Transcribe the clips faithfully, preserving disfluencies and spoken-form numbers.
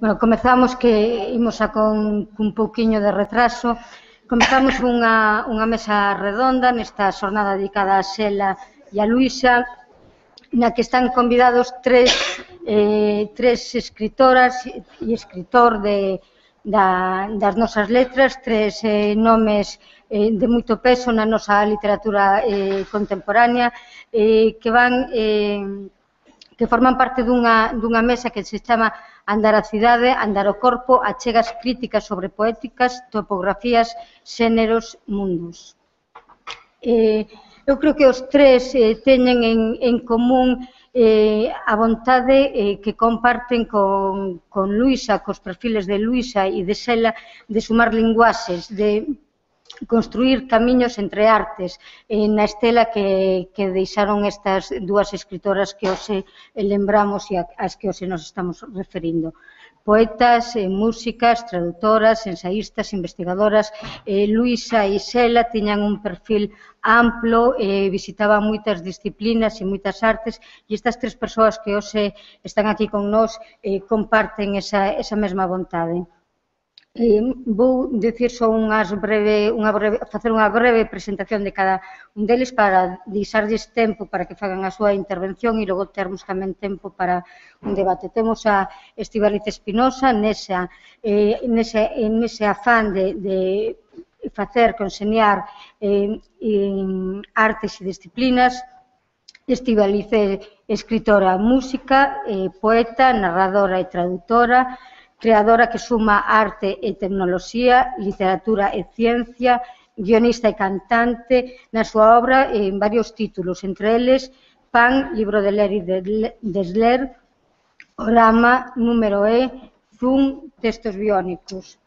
Bueno, comezamos que imos a con un pouquiño de retraso. Comezamos unha, unha mesa redonda nesta xornada dedicada a Xela e a Luisa, na que están convidados tres, eh, tres escritoras e escritor de, da, das nosas letras, tres eh, nomes eh, de moito peso na nosa literatura eh, contemporánea, eh, que van... Eh, que forman parte dunha, dunha mesa que se chama Andar a cidade, andar o corpo, achegas críticas sobre poéticas, topografías, xéneros, mundos. Eh, eu creo que os tres eh, teñen en, en común eh, a vontade eh, que comparten con, con Luisa, cos perfiles de Luisa e de Xela, de sumar linguaxes, de construir camiños entre artes eh, na estela que, que deixaron estas dúas escritoras que hoxe lembramos e as que hoxe nos estamos referindo. Poetas, eh, músicas, traductoras, ensaístas, investigadoras. Eh, Luisa e Xela tiñan un perfil amplo, eh, visitaban moitas disciplinas e moitas artes, e estas tres persoas que hoxe están aquí con nós eh, comparten esa, esa mesma vontade. Eh, vou dicir só unhas breve, unha breve, facer unha breve presentación de cada un deles para deixarlles tempo para que fagan a súa intervención e logo termos tamén tempo para un debate. Temos a Estíbaliz Espinosa nesa, eh, nese, nese afán de, de facer, conxeniar eh, en artes e disciplinas. Estíbaliz é escritora, música, eh, poeta, narradora e traductora, creadora que suma arte e tecnoloxía, literatura e ciencia, guionista e cantante, na súa obra en varios títulos, entre eles Pan, libro de ler e de desler, Orama, número E, Zoom, textos biónicos.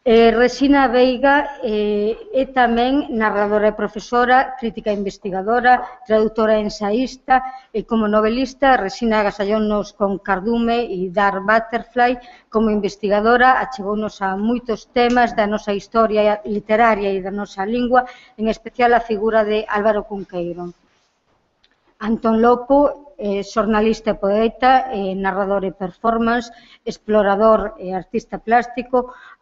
Eh, Resina Veiga eh, é tamén narradora e profesora, crítica e investigadora, traductora e ensaísta, e como novelista Resina agasallónos con Cardume e Dark Butterfly. Como investigadora achegounos a moitos temas da nosa historia literaria e da nosa lingua, en especial a figura de Álvaro Cunqueiro. Antón Lopo, eh, xornalista e poeta, eh, narrador e performance, explorador e artista plástico,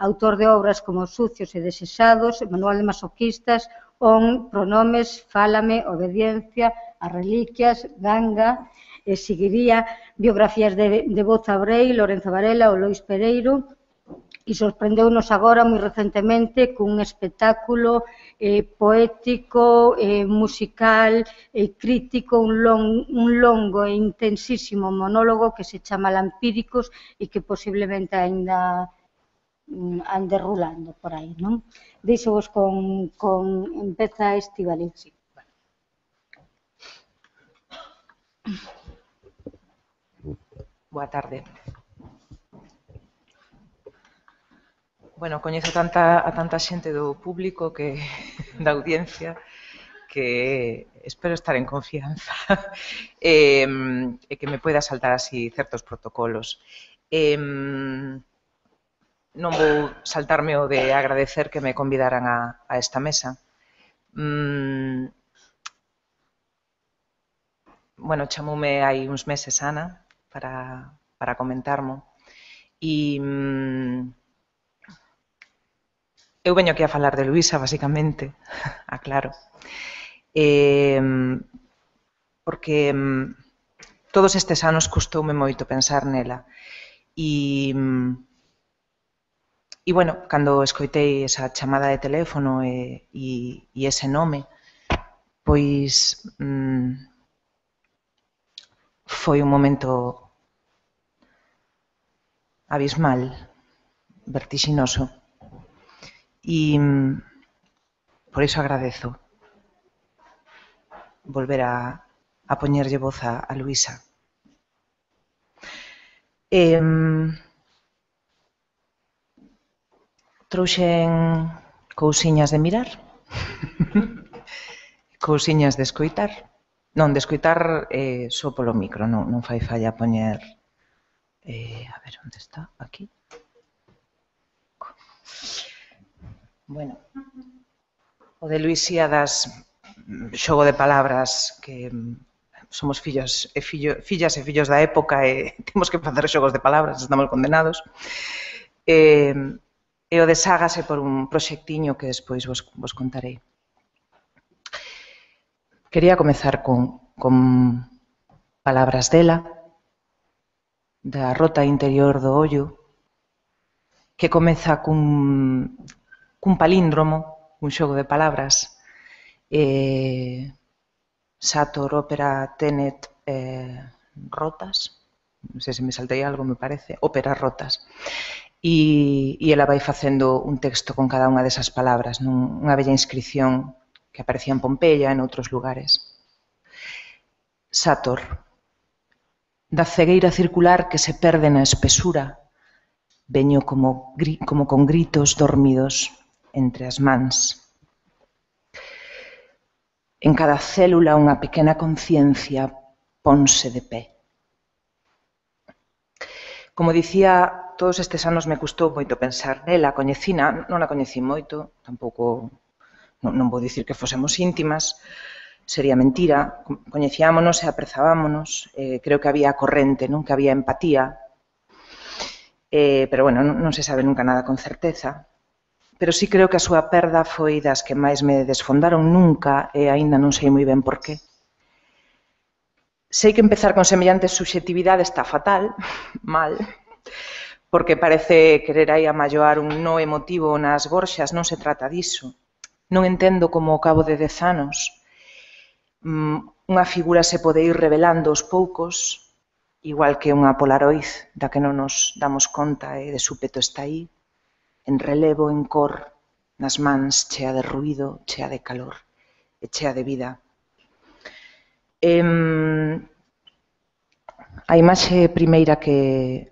autor de obras como Sucios e Desexados, Manual de Masoquistas, On, Pronomes, Fálame, Obediencia, As Reliquias, Ganga, e seguiría biografías de, de Boza Brei, Lorenzo Varela ou Lois Pereiro, e sorprendeunos agora moi recentemente cun espectáculo eh, poético, eh, musical e eh, crítico, un, long, un longo e intensísimo monólogo que se chama Lampíricos e que posiblemente ainda mm, ande rulando por aí, non? Deixo vos con, con empeza Estíbaliz. Sí. Boa tarde. Bueno, coñezo tanta, a tanta xente do público, que da audiencia, que espero estar en confianza e, e que me poida saltar así certos protocolos. E, non vou saltarme o de agradecer que me convidaran a, a esta mesa. Mm, bueno, chamoume hai uns meses Ana para, para comentarmo e mm, eu veño aquí a falar de Luisa, basicamente, aclaro, eh, porque todos estes anos custoume moito pensar nela e, e bueno, cando escoitei esa chamada de teléfono e, e, e ese nome, pois mm, foi un momento abismal, vertixinoso. E por iso agradezo volver a, a poñerlle voz a, a Luisa. E, trouxen cousiñas de mirar, cousiñas de escoitar. Non, de escoitar eh, só polo micro, non, non fai falla poñer... Eh, a ver, onde está? Aquí. Bueno, o de Luisíadas, xogo de palabras que somos fillos e fillo, fillas e fillos da época e temos que facer xogos de palabras, estamos condenados. E, e o deshágase por un proxectiño que despois vos, vos contarei. Quería comezar con, con palabras dela, da rota interior do ollo, que comeza cun, cun palíndromo, un xogo de palabras, eh, Sator, ópera, Tenet, eh, rotas, non sei se me saltei algo, me parece, óperas rotas. E, e ela vai facendo un texto con cada unha desas palabras, nun, unha bella inscripción que aparecía en Pompeia e en outros lugares. Sator, da cegueira circular que se perde na espesura, veño como, como con gritos dormidos entre as mans. En cada célula unha pequena conciencia ponse de pé. Como dicía, todos estes anos me custou moito pensar nela, coñecina, non a coñecí moito, tampouco, non, non vou dicir que fosemos íntimas, sería mentira, coñecíámonos e aprezábámonos, eh, creo que había corrente, non que había empatía, eh, pero bueno, non, non se sabe nunca nada con certeza. Pero sí creo que a súa perda foi das que máis me desfondaron nunca e aínda non sei moi ben por qué. Sei que empezar con semellantes subxectividades está fatal, mal, porque parece querer aí amalloar un no emotivo nas gorxas, non se trata diso. Non entendo como ao cabo de dez anos unha figura se pode ir revelando aos poucos, igual que unha polaroid da que non nos damos conta e de súpeto está aí, en relevo, en cor, nas mans, chea de ruído, chea de calor e chea de vida. Eh, a imaxe primeira que,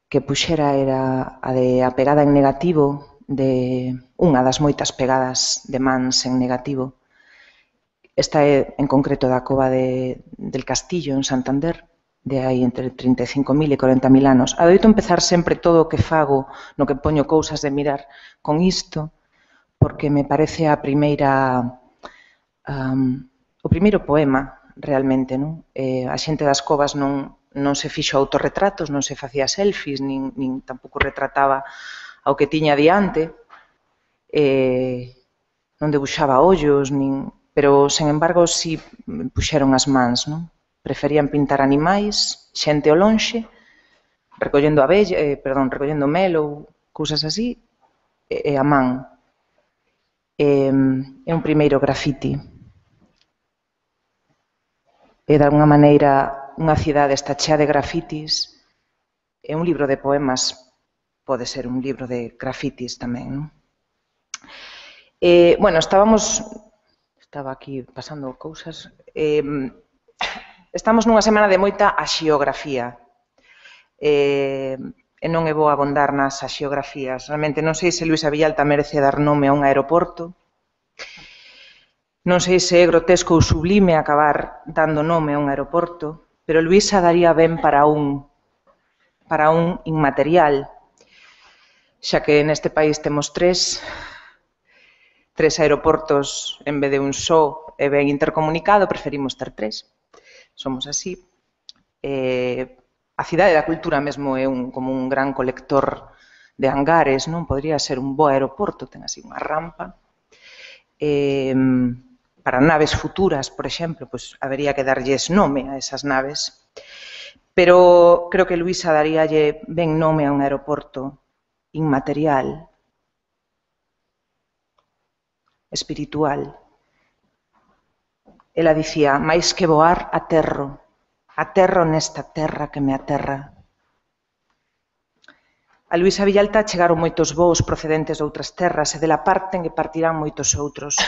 que puxera era a de a pegada en negativo, de unha das moitas pegadas de mans en negativo. Esta é en concreto da cova de, del Castillo, en Santander, de aí entre trinta e cinco mil e corenta mil anos. Adoito empezar sempre todo o que fago, no que poño cousas de mirar con isto, porque me parece a primeira, um, o primeiro poema, realmente, non? Eh, a xente das covas non, non se fixo autorretratos, non se facía selfies, nin, nin tampouco retrataba ao que tiña diante, eh, non debuxaba ollos, nin, pero, sen embargo, si puxeron as mans, non? Preferían pintar animais, xente ao lonxe, recollendo abella, eh, perdón, recollendo mel ou cousas así, e, e a man. É, é un primeiro grafiti. E, de alguna maneira, unha cidade está chea de grafitis, e un libro de poemas pode ser un libro de grafitis tamén, non? Eh, bueno, estábamos... Estaba aquí pasando cousas... Eh, Estamos nunha semana de moita axiografía. Eh, e non é bo abondar nas axiografías. Realmente non sei se Luisa Villalta merece dar nome a un aeroporto. Non sei se é grotesco ou sublime acabar dando nome a un aeroporto, pero Luisa daría ben para un, para un inmaterial, xa que neste país temos tres, tres aeroportos en vez de un só e ben intercomunicado, preferimos ter tres. Somos así. Eh, a cidade da cultura mesmo é un, como un gran colector de hangares, non? Podría ser un bo aeroporto, ten así unha rampa. Eh, para naves futuras, por exemplo, pues, habería que darlles nome a esas naves. Pero creo que Luisa daríalle ben nome a un aeroporto inmaterial, espiritual. Ela dicía, máis que voar, aterro. Aterro nesta terra que me aterra. A Luisa Villalta chegaron moitos voos procedentes de outras terras e dela parten e partirán moitos outros.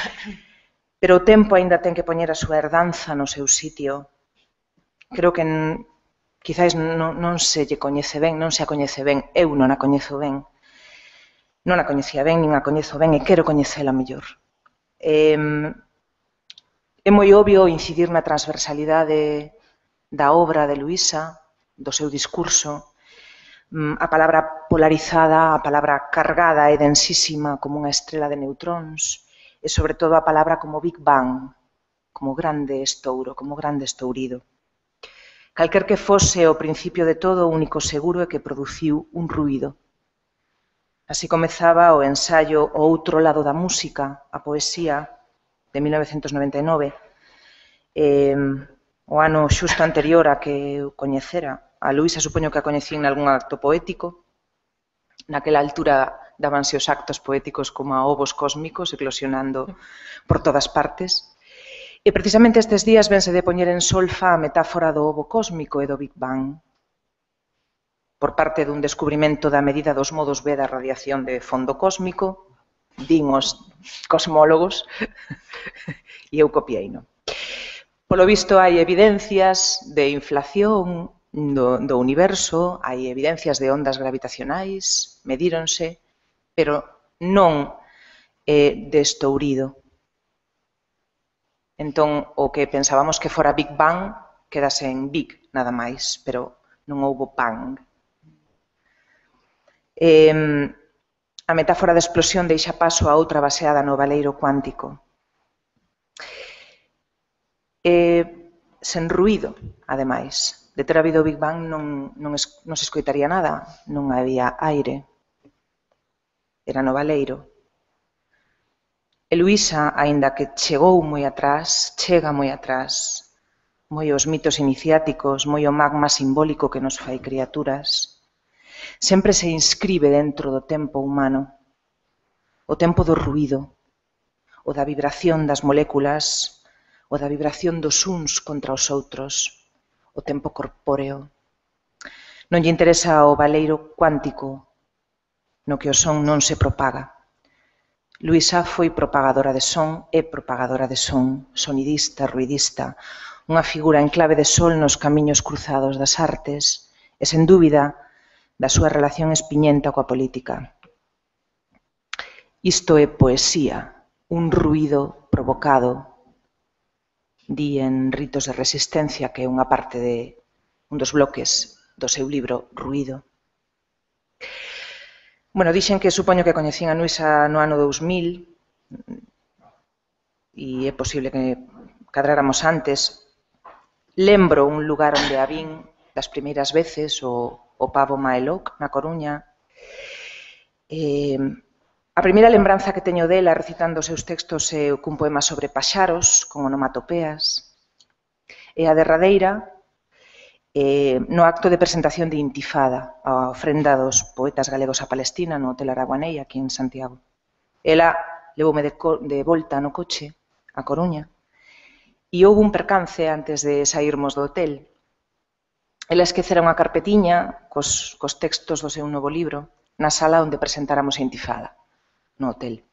Pero o tempo aínda ten que poñer a súa herdanza no seu sitio. Creo que quizáis non, non se lle coñece ben, non se a coñece ben. Eu non a coñezo ben. Non a coñecía ben, nin a coñezo ben e quero coñecela mellor. Eh, É moi obvio incidir na transversalidade da obra de Luisa, do seu discurso, a palabra polarizada, a palabra cargada e densísima como unha estrela de neutróns, e sobre todo a palabra como Big Bang. como grande estouro, como grande estourido. Calquer que fose o principio de todo, o único seguro é que produciu un ruído. Así comezaba o ensaio O outro lado da música, a poesía de mil novecentos noventa e nove, eh, o ano xusto anterior a que eu coñecera. A Luisa supoño que a coñecín nalgún acto poético. Naquela altura dábanse os actos poéticos como a ovos cósmicos, eclosionando por todas partes. E precisamente estes días vense de poñer en solfa a metáfora do ovo cósmico e do Big Bang, por parte dun descubrimento da medida dos modos B da radiación de fondo cósmico, din os cosmólogos, e eu copiei-no. Polo visto, hai evidencias de inflación do, do universo, hai evidencias de ondas gravitacionais, medíronse, pero non eh, de estourido. Entón, o que pensábamos que fora Big Bang, quedase en Big, nada máis, pero non houbo Bang. Eh, a metáfora da explosión deixa paso a outra baseada no valeiro cuántico. Eh, sen ruído, ademais. De ter habido Big Bang non, non, es, non se escoitaría nada, non había aire. Era no valeiro. E Luisa, aínda que chegou moi atrás, chega moi atrás, moi os mitos iniciáticos, moi o magma simbólico que nos fai criaturas, sempre se inscribe dentro do tempo humano, o tempo do ruído, o da vibración das moléculas, o da vibración dos uns contra os outros, o tempo corpóreo. Non lle interesa o valeiro cuántico, no que o son non se propaga. Luisa foi propagadora de son e propagadora de son, sonidista, ruidista, unha figura en clave de sol nos camiños cruzados das artes e, sen dúbida, da súa relación espiñenta coa política. Isto é poesía, un ruído provocado, di en Ritos de Resistencia, que é unha parte de un dos bloques do seu libro Ruído. Bueno, dixen que supoño que coñecín a Luisa no ano dous mil e é posible que cadráramos antes. Lembro un lugar onde a vin das primeiras veces, o, o Pavo Maeloc, na Coruña. Eh, a primeira lembranza que teño dela recitando os seus textos é cun poema sobre paxaros, con onomatopeas. E a derradeira, Eh, no acto de presentación de Intifada, a ofrenda dos poetas galegos a Palestina no Hotel Araguanei, aquí en Santiago. Ela levoume de, de volta no coche a Coruña e houve un percance antes de saírmos do hotel. Ela esquecera unha carpetiña cos, cos textos do seu novo libro na sala onde presentáramos a Intifada, no hotel.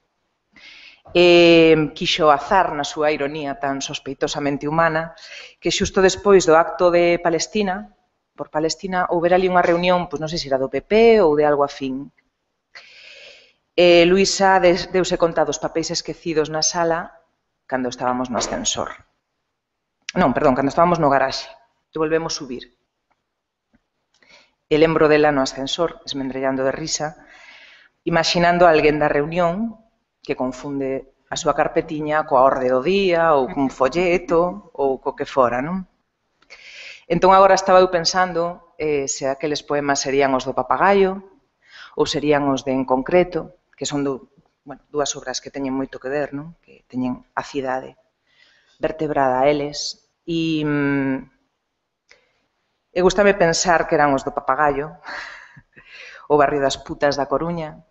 E quixo azar na súa ironía tan sospeitosamente humana que xusto despois do acto de Palestina, por Palestina, houbera ali unha reunión, pois non sei se era do P P ou de algo afín. E Luisa deuse conta dos papéis esquecidos na sala cando estábamos no ascensor. Non, perdón, cando estábamos no garaxe. E volvemos subir. E lembro dela no ascensor, esmendrellando de risa, imaginando a alguén da reunión que confunde a súa carpetiña coa orde do día ou cun folleto ou co que fora, non? Entón agora estaba eu pensando eh, se aqueles poemas serían os do Papagaio ou serían os de En Concreto, que son do, bueno, dúas obras que teñen moito que ver, non? Que teñen a cidade vertebrada a eles. E, mm, e gustame pensar que eran os do Papagaio, o barrio das putas da Coruña,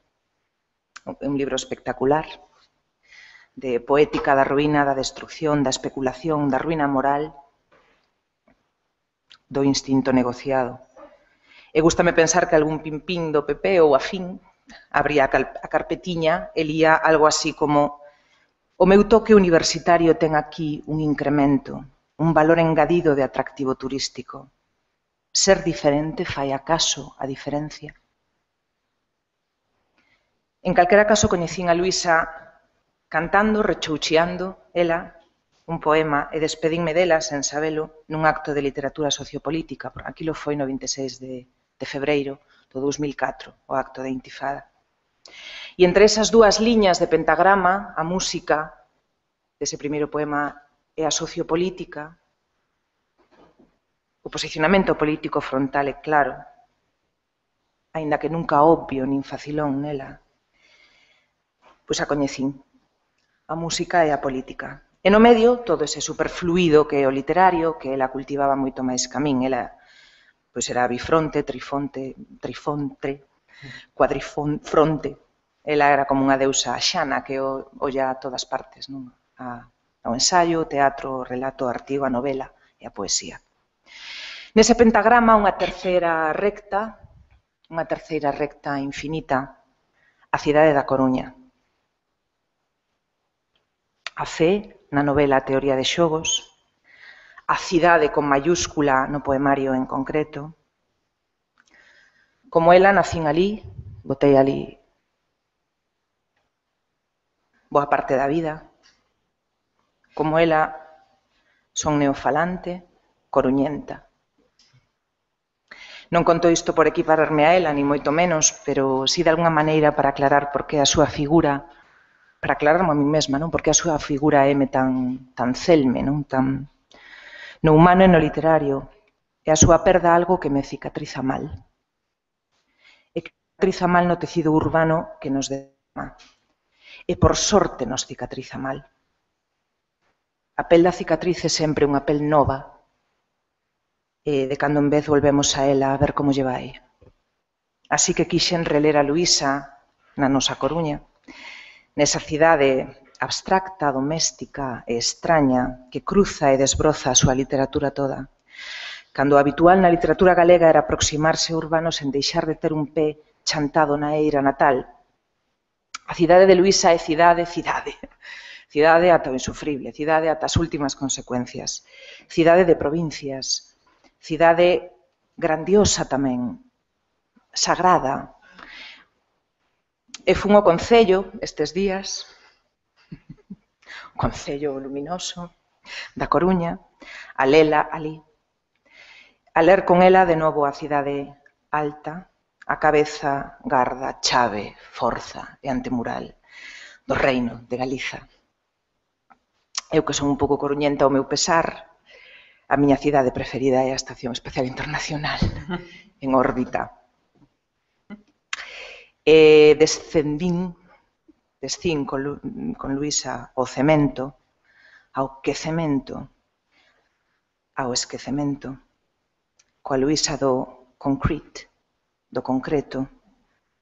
un libro espectacular, de poética da ruína, da destrucción, da especulación, da ruína moral, do instinto negociado. E gústame pensar que algún pimpín do P P ou afín abría a carpetiña e lía algo así como: o meu toque universitario ten aquí un incremento, un valor engadido de atractivo turístico. Ser diferente fai acaso a diferencia. En calquera caso, coñecín a Luisa cantando, rechoucheando, ela, un poema, e despedínme dela, sen sabelo, nun acto de literatura sociopolítica. Aquilo foi no vinte e seis de, de febreiro do dous mil catro, o acto de Intifada. E entre esas dúas liñas de pentagrama, a música dese primeiro poema e a sociopolítica, o posicionamento político frontal é claro, aínda que nunca obvio nin facilón nela, pois a coñecín, a música e a política. E no medio, todo ese superfluido que é o literario, que ela cultivaba moito máis que a min. Ela, pois era bifronte, trifonte, trifonte, cuadrifronte. Ela era como unha deusa xana que olla a todas partes, non? A, ao ensaio, o teatro, o relato, o artigo, a novela e a poesía. Nese pentagrama, unha terceira recta, unha terceira recta infinita, a cidade da Coruña. A fe na novela A teoría de xogos, a cidade con mayúscula no poemario en concreto. Como ela, nacín ali, botei ali boa parte da vida. Como ela, son neofalante, coruñenta. Non conto isto por equipararme a ela, ni moito menos, pero si de alguna maneira para aclarar por que a súa figura, para aclararme a mí mesma, non? Porque a súa figura é tan, tan celme, non? Tan, no humano e no literario, e a súa perda algo que me cicatriza mal. E que cicatriza mal no tecido urbano que nos dema. E por sorte nos cicatriza mal. A pel da cicatriz é sempre unha pel nova, e de cando en vez volvemos a ela a ver como lle vai. Así que quixen reler a Luísa na nosa Coruña, nesa cidade abstracta, doméstica e extraña que cruza e desbroza a súa literatura toda. Cando o habitual na literatura galega era aproximarse ao urbano sen deixar de ter un pé chantado na eira natal. A cidade de Luísa é cidade, cidade. Cidade ata o insufrible, cidade ata as últimas consecuencias. Cidade de provincias, cidade grandiosa tamén, sagrada. E fun ao Concello estes días, o Concello luminoso da Coruña, a lela ali, a ler con ela de novo a cidade alta, a cabeza, garda, chave, forza e antemural do reino de Galiza. Eu que son un pouco coruñenta ao meu pesar, a miña cidade preferida é a Estación Espacial Internacional, en órbita. E descendín, descín con, Lu, con Luísa ao cemento, ao quecemento, ao esquecemento, coa Luísa do concrete, do concreto,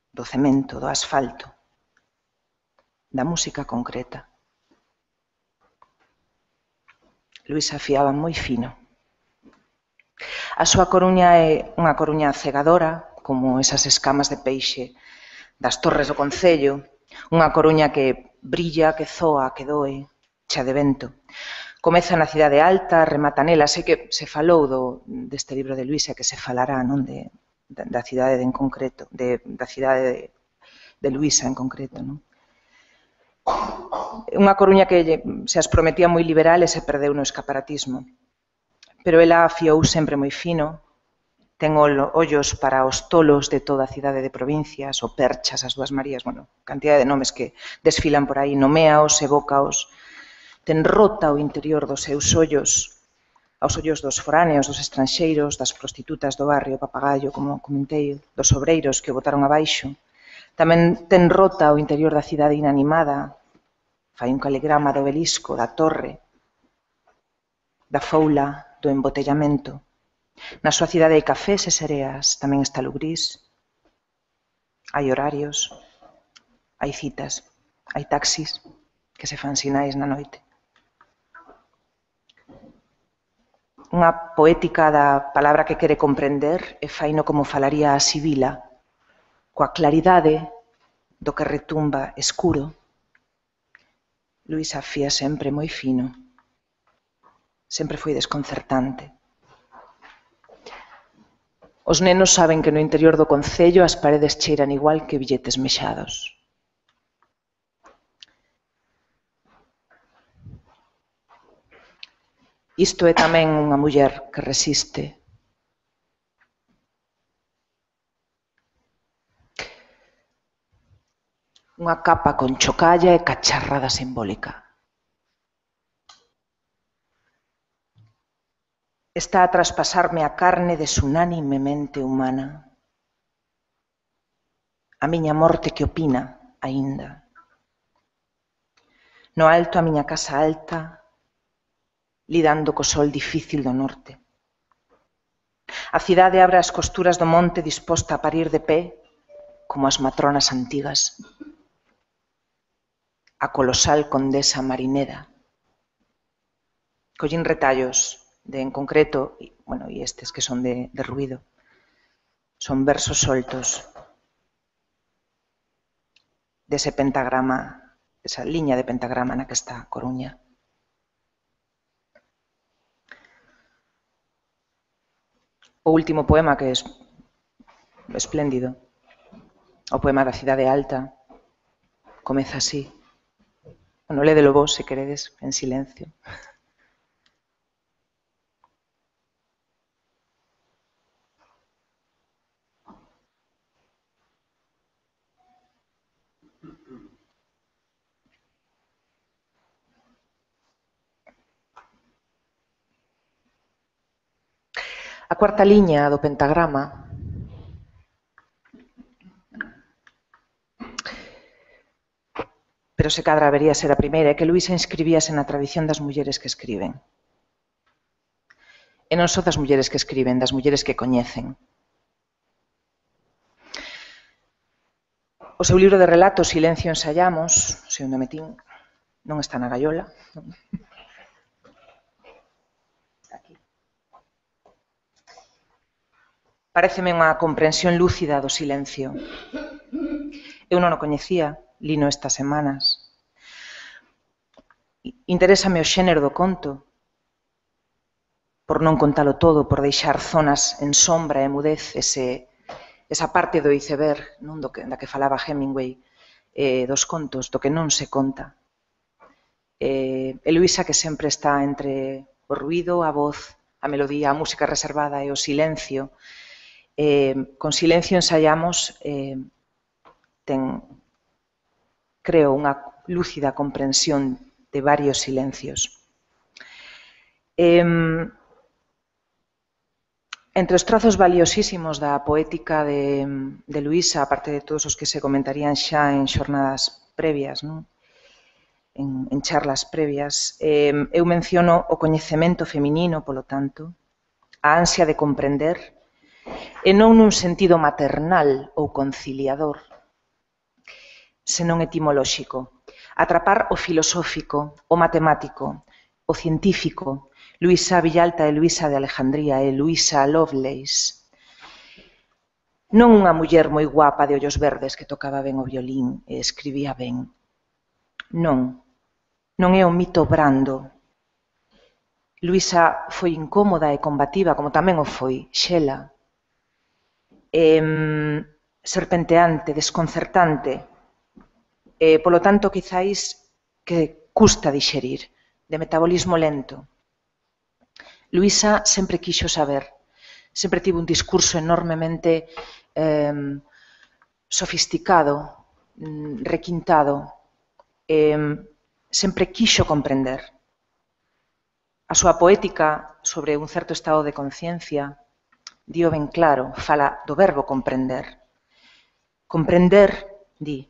do cemento, do asfalto, da música concreta. Luísa fiaba moi fino. A súa Coruña é unha Coruña cegadora, como esas escamas de peixe das torres do Concello, unha Coruña que brilla, que zoa, que doe, xa de vento. Comeza na cidade alta, remata nela, sei que se falou do, deste libro de Luísa, que se falará, non, de, da, da cidade de, en concreto, de, da cidade de, de Luísa en concreto, non? Unha Coruña que se as prometía moi liberal e se perdeu no escaparatismo. Pero ela afiou sempre moi fino, ten ollos para os tolos de toda a cidade de provincias, o Perchas, as Dúas Marías, bueno, cantidad de nomes que desfilan por aí, noméaos, evócaos, ten rota o interior dos seus ollos, aos ollos dos foráneos, dos estranxeiros, das prostitutas do barrio Papagayo, como comentei, dos obreiros que o botaron abaixo. Tamén ten rota o interior da cidade inanimada, fai un caligrama do obelisco, da torre, da foula, do embotellamento. Na súa cidade hai cafés e sereas, tamén está Lugrís, hai horarios, hai citas, hai taxis que se fan sinais na noite. Unha poética da palabra que quere comprender e faino como falaría a Sibila, coa claridade do que retumba escuro. Luísa fía sempre moi fino, sempre foi desconcertante. Os nenos saben que no interior do Concello as paredes cheiran igual que billetes mexados. Isto é tamén unha muller que resiste. Unha capa con chocalla e cacharrada simbólica. está a traspasarme a carne desunánime mente humana. A miña morte que opina, aínda. No alto a miña casa alta, lidando co sol difícil do norte. A cidade abre as costuras do monte disposta a parir de pé, como as matronas antigas. A colosal condesa marinera. Collín retallos de, en concreto, y, bueno, e estes que son de, de ruido, son versos soltos dese pentagrama, esa liña de pentagrama na que está a Coruña. O último poema, que é espléndido, o poema da Cidade Alta, comeza así. Bueno, lédelo vos, se queredes, en silencio. A cuarta liña do pentagrama pero se cadra habería ser a primeira, é que Luisa inscribíase na tradición das mulleres que escriben. E non só das mulleres que escriben, das mulleres que coñecen. O seu libro de relatos, Silencio ensayamos, se onde metín, non está na gaiola. Aquí. Paréceme unha comprensión lúcida do silencio. Eu non o coñecía, lino estas semanas. Interésame o xénero do conto, por non contalo todo, por deixar zonas en sombra e mudez, ese, esa parte do iceberg, non do que, da que falaba Hemingway, eh, dos contos, do que non se conta. Eh, e Luisa, que sempre está entre o ruido, a voz, a melodía, a música reservada e o silencio. Eh, con Silencio ensayamos, eh, ten, creo, unha lúcida comprensión de varios silencios. Eh, entre os trazos valiosísimos da poética de, de Luisa, aparte de todos os que se comentarían xa en xornadas previas, non? En, en charlas previas, eh, eu menciono o coñecemento feminino, polo tanto, a ansia de comprender, e non nun sentido maternal ou conciliador, senón etimolóxico. Atrapar o filosófico, o matemático, o científico, Luisa Villalta e Luisa de Alejandría e Luisa Lovelace. Non unha muller moi guapa de ollos verdes que tocaba ben o violín e escribía ben. Non, non é o mito brando. Luisa foi incómoda e combativa, como tamén o foi Xela. Eh, serpenteante, desconcertante, e, polo tanto, quizáis que custa dixerir, de metabolismo lento. Luisa sempre quixo saber, sempre tivo un discurso enormemente eh, sofisticado, requintado, eh, sempre quixo comprender. A súa poética sobre un certo estado de conciencia dio ben claro, fala do verbo comprender. Comprender, di,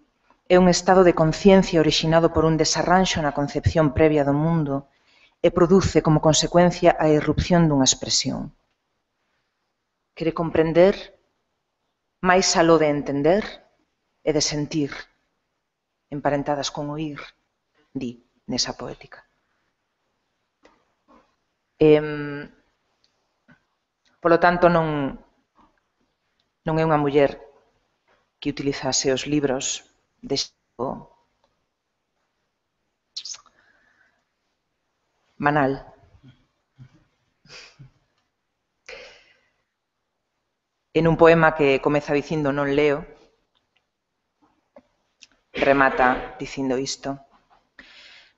é un estado de conciencia orixinado por un desarranxo na concepción previa do mundo e produce como consecuencia a irrupción dunha expresión. Quere comprender máis aló de entender e de sentir, emparentadas con oír, di, nesa poética. Eh, polo tanto, non, non é unha muller que utilizase os libros de xeito banal. En un poema que comeza dicindo non leo, remata dicindo isto.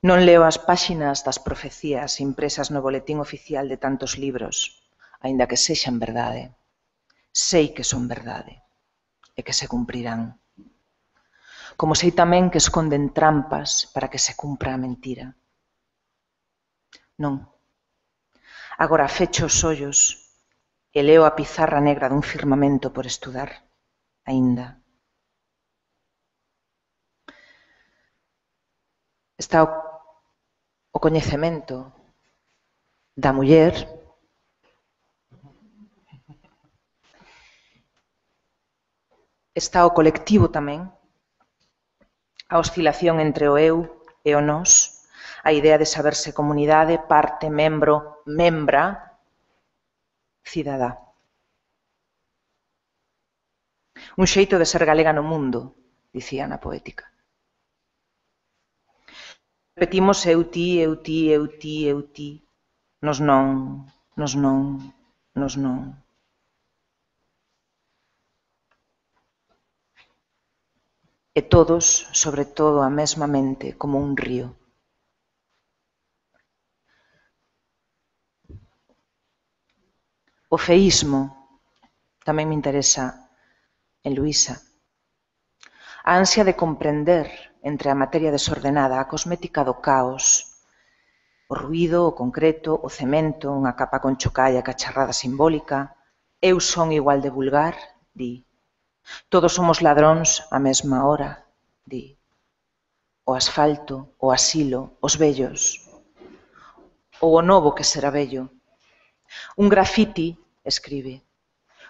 Non leo as páxinas das profecías impresas no boletín oficial de tantos libros, aínda que sexan verdade. Sei que son verdade e que se cumprirán. Como sei tamén que esconden trampas para que se cumpra a mentira. Non. Agora fecho os ollos e leo a pizarra negra dun firmamento por estudar, aínda. Está o, o coñecemento da muller está o colectivo tamén, a oscilación entre o eu e o nós, a idea de saberse comunidade, parte, membro, membra, cidadá. Un xeito de ser galega no mundo, dicía na poética. Repetimos eu ti, eu ti, eu ti, eu ti, nos non, nos non, nos non. E todos, sobre todo, a mesma mente, como un río. O feísmo tamén me interesa en Luísa. A ansia de comprender entre a materia desordenada, a cosmética do caos, o ruído, o concreto, o cemento, unha capa con chocalla e cacharrada simbólica. Eu son igual de vulgar, di. Todos somos ladróns á mesma hora, di. O asfalto, o asilo, os vellos. Ou o novo que será vello. Un grafiti, escribe,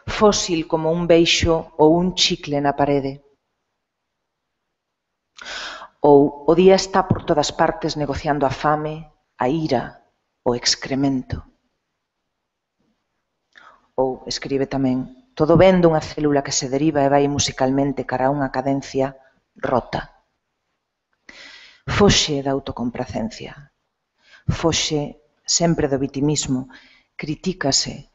fósil como un beixo ou un chicle na parede. Ou o día está por todas partes negociando a fame, a ira, o excremento. Ou, escribe tamén, todo ven dunha célula que se deriva e vai musicalmente cara a unha cadencia rota. Foxe da autocomplacencia. Foxe sempre do vitimismo. Critícase.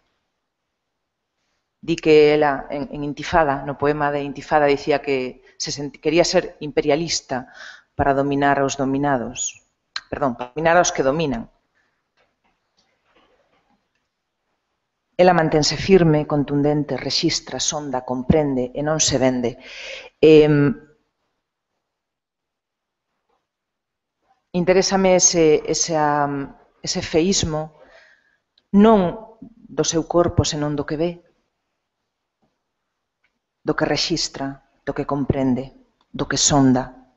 Di que ela, en, en Intifada, no poema de Intifada, dicía que se sent, quería ser imperialista para dominar aos dominados. Perdón, para dominar aos que dominan. Ela mantense firme, contundente, rexistra, sonda, comprende e non se vende. Eh, interésame ese, ese, ese feísmo non do seu corpo, senón do que ve, do que rexistra, do que comprende, do que sonda.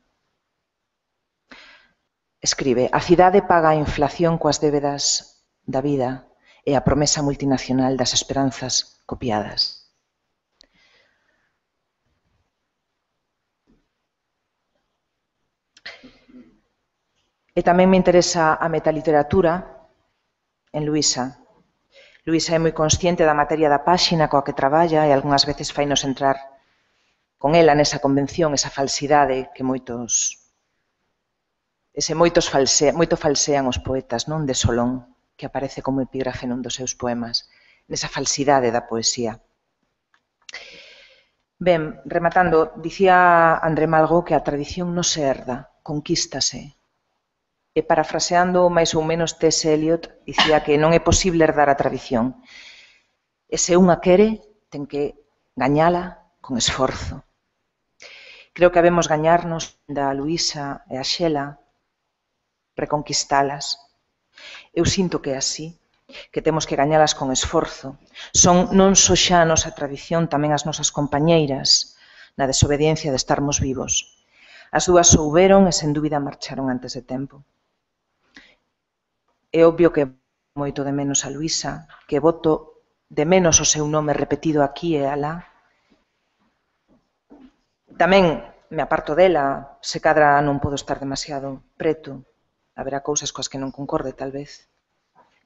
Escribe, a cidade paga a inflación coas débedas da vida e a promesa multinacional das esperanzas copiadas. E tamén me interesa a metaliteratura en Luísa. Luísa é moi consciente da materia da páxina coa que traballa e algunhas veces fainos entrar con ela nesa convención, esa falsidade que moitos ese moitos false, moito falsean os poetas, non, de Solón, que aparece como epígrafe nun dos seus poemas, nesa falsidade da poesía. Ben, rematando, dicía André Malraux que a tradición non se herda, conquístase. E parafraseando máis ou menos T S Eliot, dicía que non é posible herdar a tradición. E se unha quere, ten que gañala con esforzo. Creo que habemos gañarnos da Luísa e a Xela, reconquistalas. Eu sinto que é así, que temos que gañalas con esforzo. Son non só xa a nosa tradición, tamén as nosas compañeiras, na desobediencia de estarmos vivos. As dúas souberon e sen dúbida marcharon antes de tempo. É obvio que moito de menos a Luísa, que boto de menos o seu nome repetido aquí e alá. Tamén me aparto dela, se cadra non podo estar demasiado preto. Haberá cousas coas que non concorde, tal vez.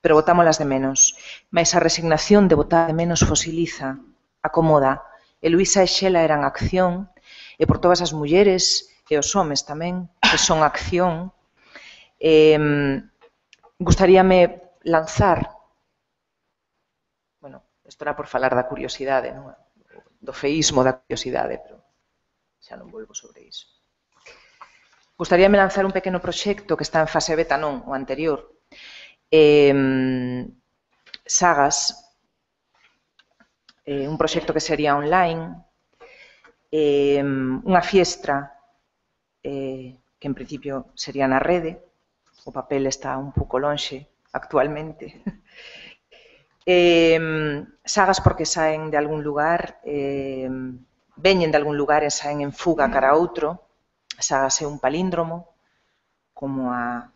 Pero botámolas de menos. Mais a resignación de botar de menos fosiliza, acomoda. E Luísa e Xela eran acción, e por todas as mulleres e os homes tamén, que son acción. Eh, gustaríame lanzar, bueno, isto era por falar da curiosidade, non? Do feísmo da curiosidade, pero xa non volvo sobre iso. Gustaríame lanzar un pequeno proxecto que está en fase beta, non, o anterior. Eh, sagas, eh, un proxecto que sería online, eh, unha fiestra eh, que en principio sería na rede, o papel está un pouco lonxe actualmente, Eh, sagas porque saen de algún lugar, eh, veñen de algún lugar e saen en fuga cara a outro. Sagas é un palíndromo, como a,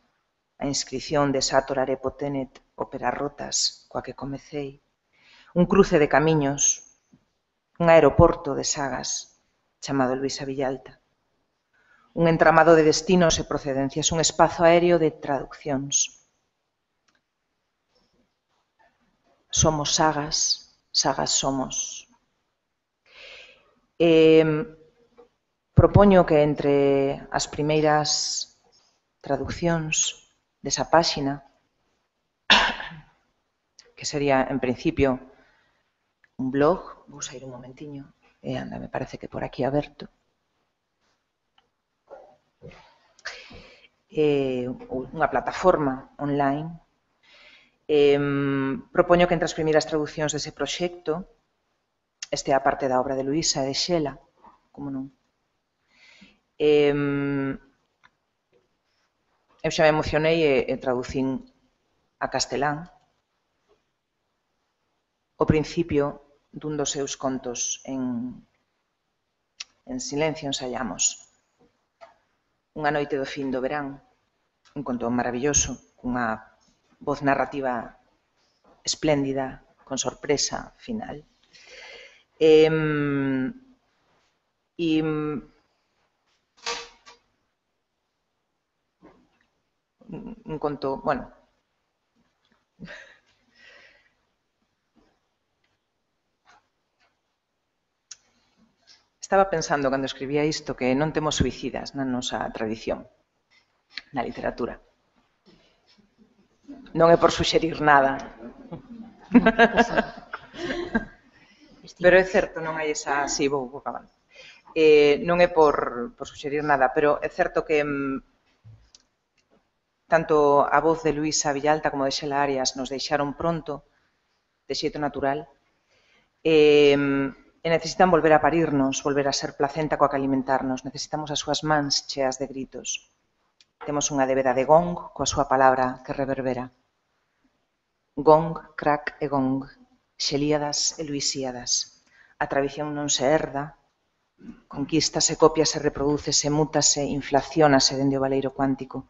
a inscripción de Sator Arepo Tenet, óperas rotas, coa que comecei. Un cruce de camiños, un aeroporto de sagas chamado Luisa Villalta. Un entramado de destinos e procedencias, un espazo aéreo de traduccións. Somos sagas, sagas somos. Eh, propoño que entre as primeiras traduccións desa páxina, que sería, en principio, un blog, vou sair un momentiño, e anda, me parece que por aquí aberto, eh, unha plataforma online. Eh, propoño que entre as primeiras traduccións dese proxecto este a parte da obra de Luisa e de Xela, como non. Eh, eu xa me emocionei e, e traducín a castelán o principio dun dos seus contos en, en silencio ensaiamos. Unha noite do fin do verán, un conto maravilloso, unha voz narrativa espléndida, con sorpresa final. Eh, y un conto, bueno, estaba pensando cando escribía isto que non temos suicidas na nosa tradición, na literatura. Non é por suxerir nada. Pero é certo, non hai esa... Si, vou, vou acabando. Eh, non é por, por suxerir nada, pero é certo que mm, tanto a voz de Luisa Villalta como de Xela Arias nos deixaron pronto, de xeito natural, e, e necesitan volver a parirnos, volver a ser placenta coa que alimentarnos. Necesitamos as súas mans cheas de gritos. Temos unha débeda de gong coa súa palabra que reverbera. Gong, crack e gong, Xelíadas e Luisíadas. A tradición non se herda, conquístase, copiase, reprodúcese, mútase, inflaciónase dende o valeiro cuántico.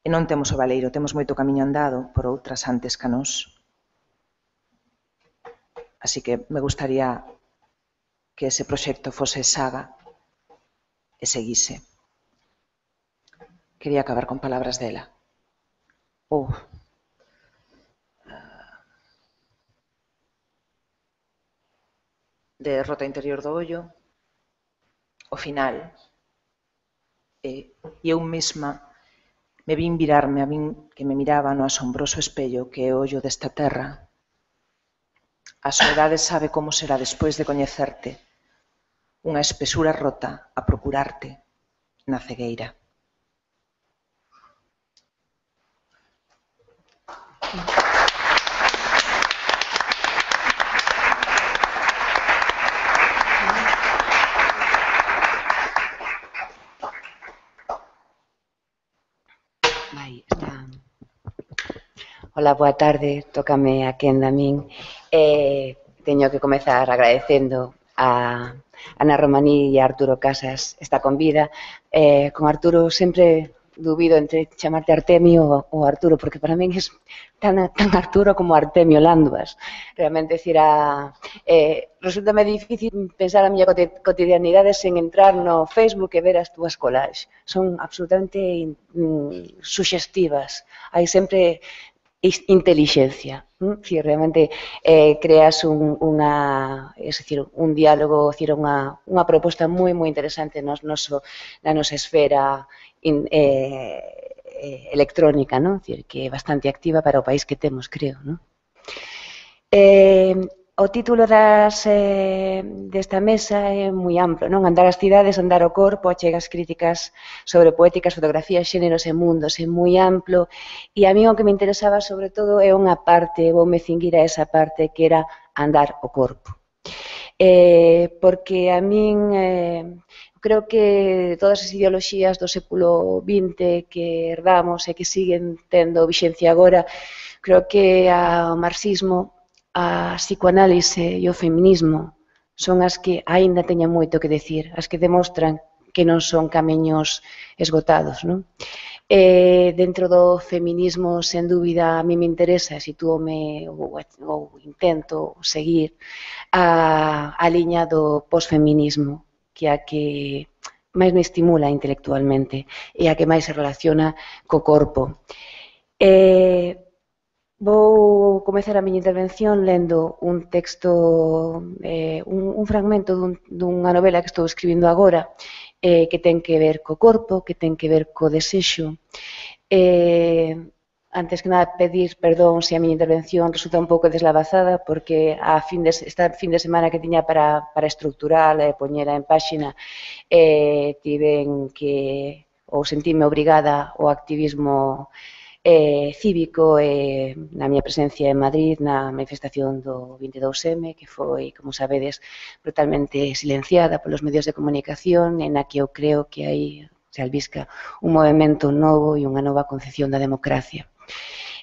E non temos o valeiro, temos moito camiño andado por outras antes ca nós. Así que me gustaría que ese proxecto fose saga e seguise. Quería acabar con palabras dela. Oh. De Rota Interior do Ollo, o final, e eu mesma me vin virarme a min que me miraba no asombroso espello que é o ollo desta terra. A soedade sabe como será despois de coñecerte, unha espesura rota a procurarte na cegueira. Vai, está. Hola, boa tarde, tócame a quenda a min. Eh, teño que comezar agradecendo a Ana Romaní e a Arturo Casas esta convida. Eh, con Arturo sempre dubido entre chamarte Artemio ou Arturo, porque para min é tan, tan Arturo como Artemio Landuas. Realmente, decir, a, eh, resulta-me difícil pensar a miña cotidianidade sen entrar no Facebook e ver as túas collages. Son absolutamente mm, suxestivas. Hai sempre intelixencia. Si realmente eh, creas un, unha, es decir, un diálogo, es decir, unha, unha proposta moi moi interesante nos noso, na nosa esfera in, eh, eh, electrónica, ¿no? Es decir, que é bastante activa para o país que temos, creo, ¿no? Eh, o título das, eh, desta mesa é moi amplo, non? Andar as cidades, andar o corpo, achegas críticas sobre poéticas, fotografías, xéneros e mundos, é moi amplo, e a mí o que me interesaba sobre todo é unha parte, voume cinguir a esa parte que era andar o corpo. Eh, porque a min eh, creo que todas as ideoloxías do século vinte que herdamos e que siguen tendo vixencia agora, creo que o marxismo a psicoanálise e o feminismo son as que aínda teñen moito que decir, as que demostran que non son camiños esgotados, non? Eh, dentro do feminismo, sen dúbida, a mí me interesa, sitúome ou, ou intento seguir a, a liña do posfeminismo, que é a que máis me estimula intelectualmente e a que máis se relaciona co corpo. Eh, vou comezar a miña intervención lendo un texto, eh, un, un fragmento dun, dunha novela que estou escribindo agora, eh, que ten que ver co corpo, que ten que ver co desexo. Eh, antes que nada, pedir perdón se a miña intervención resulta un pouco deslavazada, porque a fin de, esta fin de semana que tiña para, para estruturar e poñera en páxina, eh, tiven que, ou sentime obrigada ao activismo Eh, cívico eh, na miña presencia en Madrid na manifestación do vinte e dous eme, que foi, como sabedes, brutalmente silenciada polos medios de comunicación, en a que eu creo que aí se albisca un movimento novo e unha nova concepción da democracia.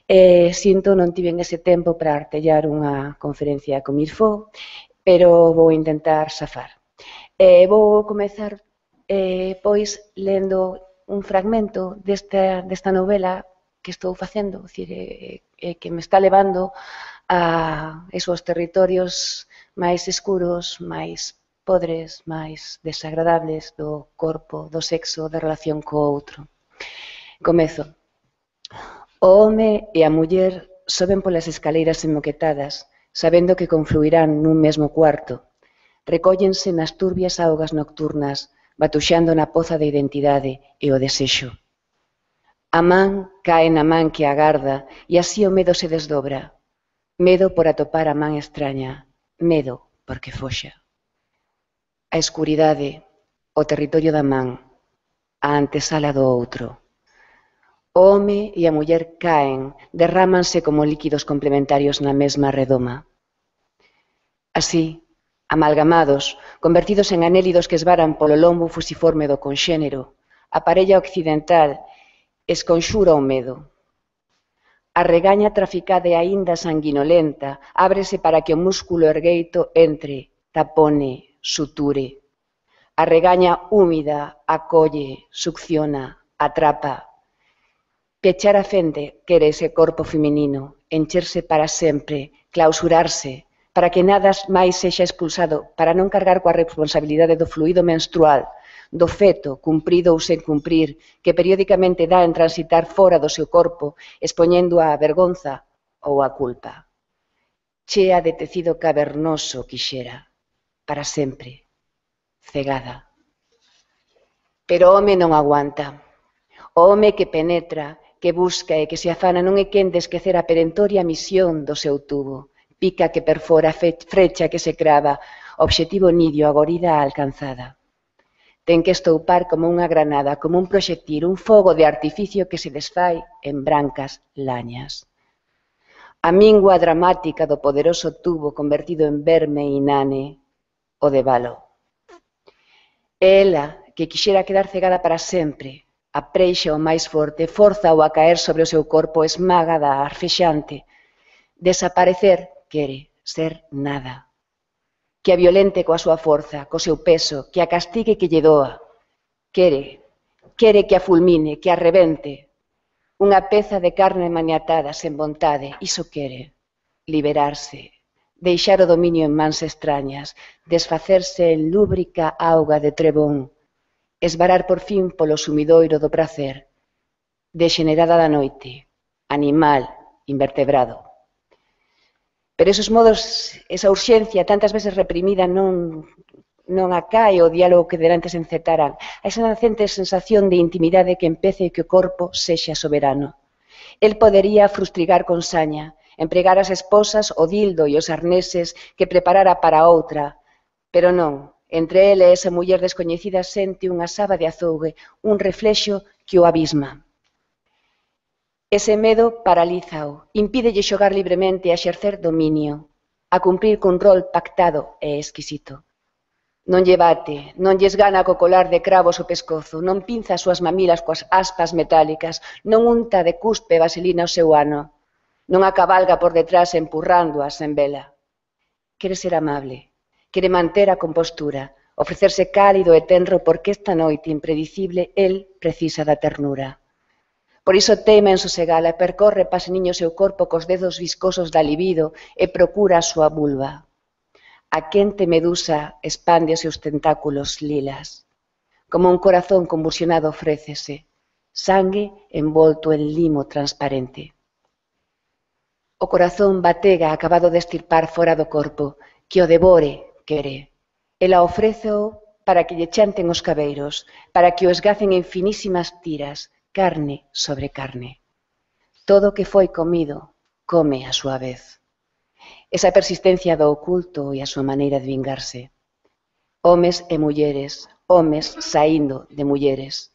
Eh, sinto non tiven ese tempo para artellar unha conferencia con Mirfó, pero vou intentar safar. Eh, vou comezar, eh, pois, lendo un fragmento desta, desta novela que estou facendo, decir, eh, eh, que me está levando a esos territorios máis escuros, máis podres, máis desagradables do corpo, do sexo, da relación co outro. Comezo. O home e a muller soben polas escaleiras enmoquetadas, sabendo que confluirán nun mesmo cuarto. Recóllense nas turbias augas nocturnas, batuxando na poza de identidade e o desexo. A man cae na man que agarda e así o medo se desdobra. Medo por atopar a man extraña, medo porque foxa. A escuridade, o territorio da man, a antesala do outro. O home e a muller caen, derrámanse como líquidos complementarios na mesma redoma. Así, amalgamados, convertidos en anélidos que esvaran polo lombo fusiforme do conxénero, a parella occidental esconxura o medo. A regaña traficada e aínda sanguinolenta ábrese para que o músculo ergueito entre, tapone, suture. A regaña húmida acolle, succiona, atrapa. Pechar a fende quere ese corpo feminino, encherse para sempre, clausurarse, para que nada máis sexa expulsado, para non cargar coa responsabilidade do fluido menstrual, do feto, cumprido ou sen cumprir, que periódicamente dá en transitar fora do seu corpo, expoñendo a vergonza ou a culpa. Chea de tecido cavernoso quixera, para sempre, cegada. Pero o home non aguanta. O home que penetra, que busca e que se afana non é quen de esquecer a perentoria misión do seu tubo, pica que perfora, frecha que se crava, obxectivo nidio, agorida alcanzada. Ten que estoupar como unha granada, como un proxectil, un fogo de artificio que se desfai en brancas lañas. A mingua dramática do poderoso tubo convertido en verme inane, o de balo. Ela, que quixera quedar cegada para sempre, apreixa o máis forte, forza o a caer sobre o seu corpo, esmagada, arfexante. Desaparecer quere ser nada. Que a violente coa súa forza, co seu peso, que a castigue que lle doa. Quere, quere que a fulmine, que a rebente. Unha peza de carne maniatada, sen vontade, iso quere. Liberarse, deixar o dominio en mans extrañas, desfacerse en lúbrica auga de trebón, esvarar por fin polo sumidoiro do prazer, degenerada da noite, animal, invertebrado. Pero esos modos, esa urxencia tantas veces reprimida non, non acae o diálogo que delante se encetaran, a esa nacente sensación de intimidade que empece e que o corpo sexa soberano. El podería frustrigar con saña, empregar as esposas, o dildo e os arneses que preparara para outra, pero non, entre ele e esa muller descoñecida sente unha saba de azougue, un reflexo que o abisma. Ese medo paralízao, impídelle xogar libremente a exercer dominio, a cumprir cun rol pactado e exquisito. Non lle bate, non lles gana co colar de cravos o pescozo, non pinza as súas mamilas coas aspas metálicas, non unta de cuspe vaselina o seu ano. Non a cabalga por detrás empurrándoas en vela. Quere ser amable, quere manter a compostura, ofrecerse cálido e tenro porque esta noite impredicible el precisa da ternura. Por iso teima en sosegala e percorre paseniño o seu corpo cos dedos viscosos da libido e procura a súa vulva. A quente medusa expande os seus tentáculos lilas. Como un corazón convulsionado ofrécese, sangue envolto en limo transparente. O corazón batega acabado de estirpar fora do corpo, que o devore, quere. Ela ofréceo para que lle chanten os cabeiros, para que o esgacen en finísimas tiras, carne sobre carne. Todo o que foi comido, come a súa vez. Esa persistencia do oculto e a súa maneira de vingarse. Homes e mulleres, homes saindo de mulleres.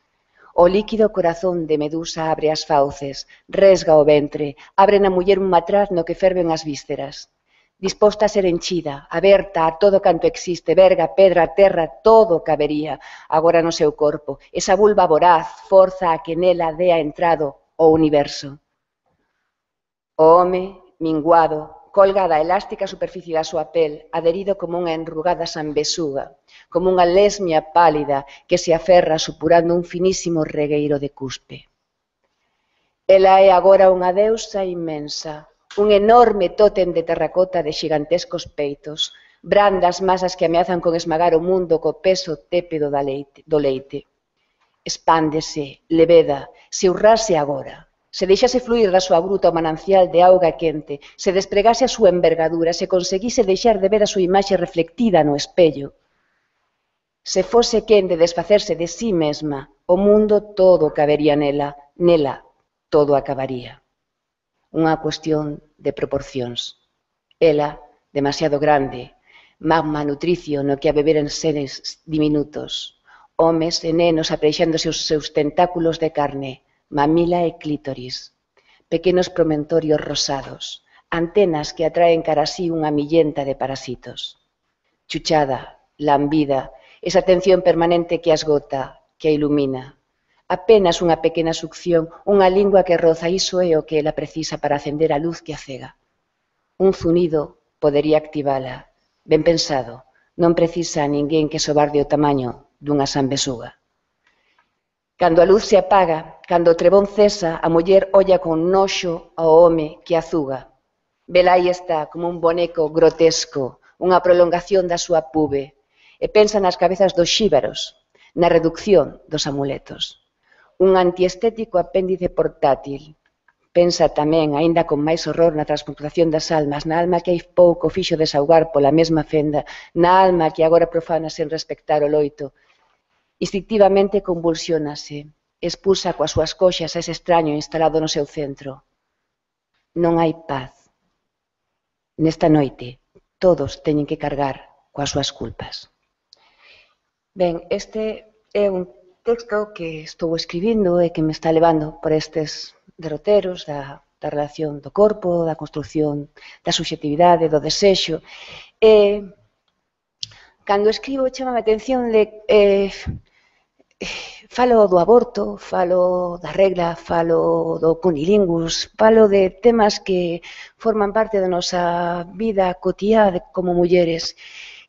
O líquido corazón de Medusa abre as fauces, resga o ventre, abre na muller un matraz no que ferven as vísceras. Disposta a ser henchida, aberta a todo canto existe, verga, pedra, terra, todo cabería agora no seu corpo. Esa vulva voraz forza a que nela dea entrado o universo. O home, minguado, colga da elástica superficie da súa pel, adherido como unha enrugada sanbesuga, como unha lesmia pálida que se aferra supurando un finísimo regueiro de cuspe. Ela é agora unha deusa inmensa, un enorme tótem de terracota de xigantescos peitos, brandas masas que ameazan con esmagar o mundo co peso tépedo do leite. Expándese, leveda, se urrase agora. Se deixase fluir da súa bruta o manancial de auga quente, se despregase a súa envergadura, se conseguise deixar de ver a súa imaxe reflectida no espello. Se fose quen de desfacerse de sí mesma, o mundo todo cabería nela, nela todo acabaría. Unha cuestión de proporcións. Ela, demasiado grande, magma nutricio no que a beber en seres diminutos, homes e nenos apreixándose os seus tentáculos de carne, mamila e clítoris, pequenos promentorios rosados, antenas que atraen cara a sí unha millenta de parasitos. Chuchada, lambida, esa tensión permanente que asgota, que a ilumina. Apenas unha pequena succión, unha lingua que roza, iso é o que ela precisa para acender a luz que a cega. Un zunido podería activala. Ben pensado, non precisa a ninguén que sobarde o tamaño dunha sanbesuga. Cando a luz se apaga, cando o trebón cesa, a muller olla con noxo ao home que azuga. Vela aí está, como un boneco grotesco, unha prolongación da súa pube, e pensa nas cabezas dos xíbaros, na reducción dos amuletos. Un antiestético apéndice portátil. Pensa tamén, aínda con máis horror, na transmutación das almas, na alma que hai pouco fixo desaugar pola mesma fenda, na alma que agora profana sen respectar o loito. Instintivamente convulsionase, expulsa coas súas coxas a ese extraño instalado no seu centro. Non hai paz. Nesta noite, todos teñen que cargar coas súas culpas. Ben, este é un texto que estou escribindo e que me está levando por estes derroteros da, da relación do corpo, da construción da subxetividade, do desexo. E, cando escribo, chama a atención de... Eh, falo do aborto, falo da regla, falo do cunilingus, falo de temas que forman parte da nosa vida cotiá como mulleres.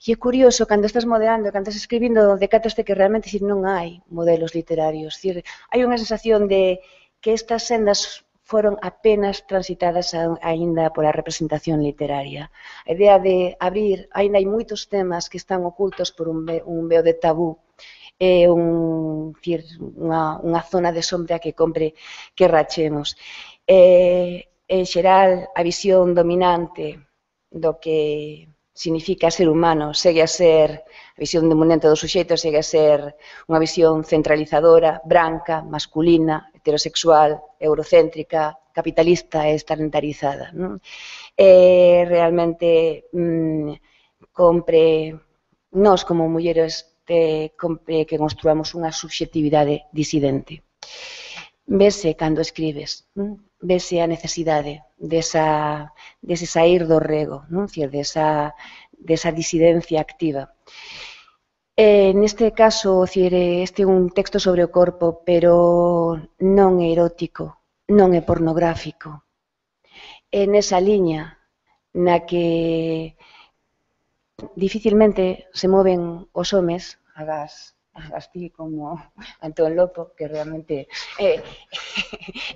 E é curioso, cando estás modelando, cando estás escribindo, decataste que realmente decir, non hai modelos literarios. Decir, hai unha sensación de que estas sendas foron apenas transitadas aínda pola representación literaria. A idea de abrir, aínda hai moitos temas que están ocultos por un veo de tabú, é un, unha, unha zona de sombra que compre que rachemos. E, en xeral, a visión dominante do que significa ser humano segue a ser, a visión dominante do suxeito segue a ser unha visión centralizadora, branca, masculina, heterosexual, eurocéntrica, capitalista e estalentarizada. Non? E realmente mmm, compre, nós como mulleres, que construamos unha subxetividade disidente. Vese cando escribes, vese a necesidade desa, dese sair do rego, non? Desa, desa disidencia activa. E, neste caso, este é un texto sobre o corpo, pero non é erótico, non é pornográfico. é nesa liña na que dificilmente se moven os homes, agás así como Antón Lopo, que realmente é,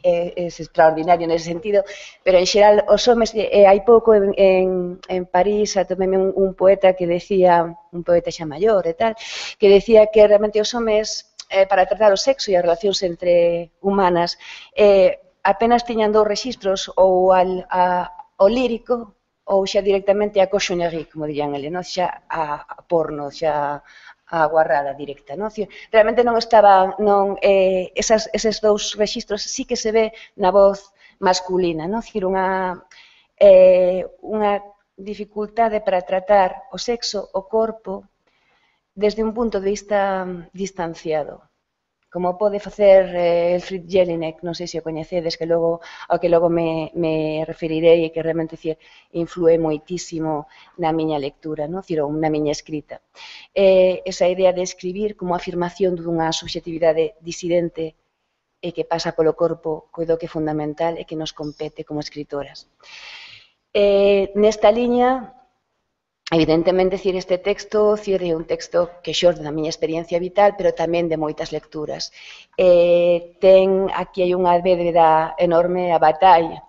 é, é extraordinario nese sentido, pero en xeral os homes, eh, hai pouco en, en, en París atópeme un, un poeta que decía, un poeta xa maior e tal, que decía que realmente os homes, eh, para tratar o sexo e as relacións entre humanas, eh, apenas tiñan dous rexistros, ou al, a, o lírico, ou xa directamente a coxonerie, como dirían ele, non? Xa a, a porno, xa a guarrada directa, non? Realmente non estaba, non, eh, esas, eses dous rexistros sí que se ve na voz masculina, non? Cir, unha, eh, unha dificultade para tratar o sexo, o corpo, desde un punto de vista distanciado, como pode facer eh, Elfriede Jelinek, non sei se o coñecedes, que logo, ao que logo me, me referirei e que realmente cir, influe moitísimo na miña lectura, non? Cir, na miña escrita. Eh, esa idea de escribir como afirmación dunha subjetividade disidente e que pasa polo corpo, coido que é fundamental e que nos compete como escritoras. Eh, nesta liña, evidentemente, cir, este texto cir, é un texto que xorde da miña experiencia vital, pero tamén de moitas lecturas. Eh, ten, aquí hai unha bébeda enorme a Bataille,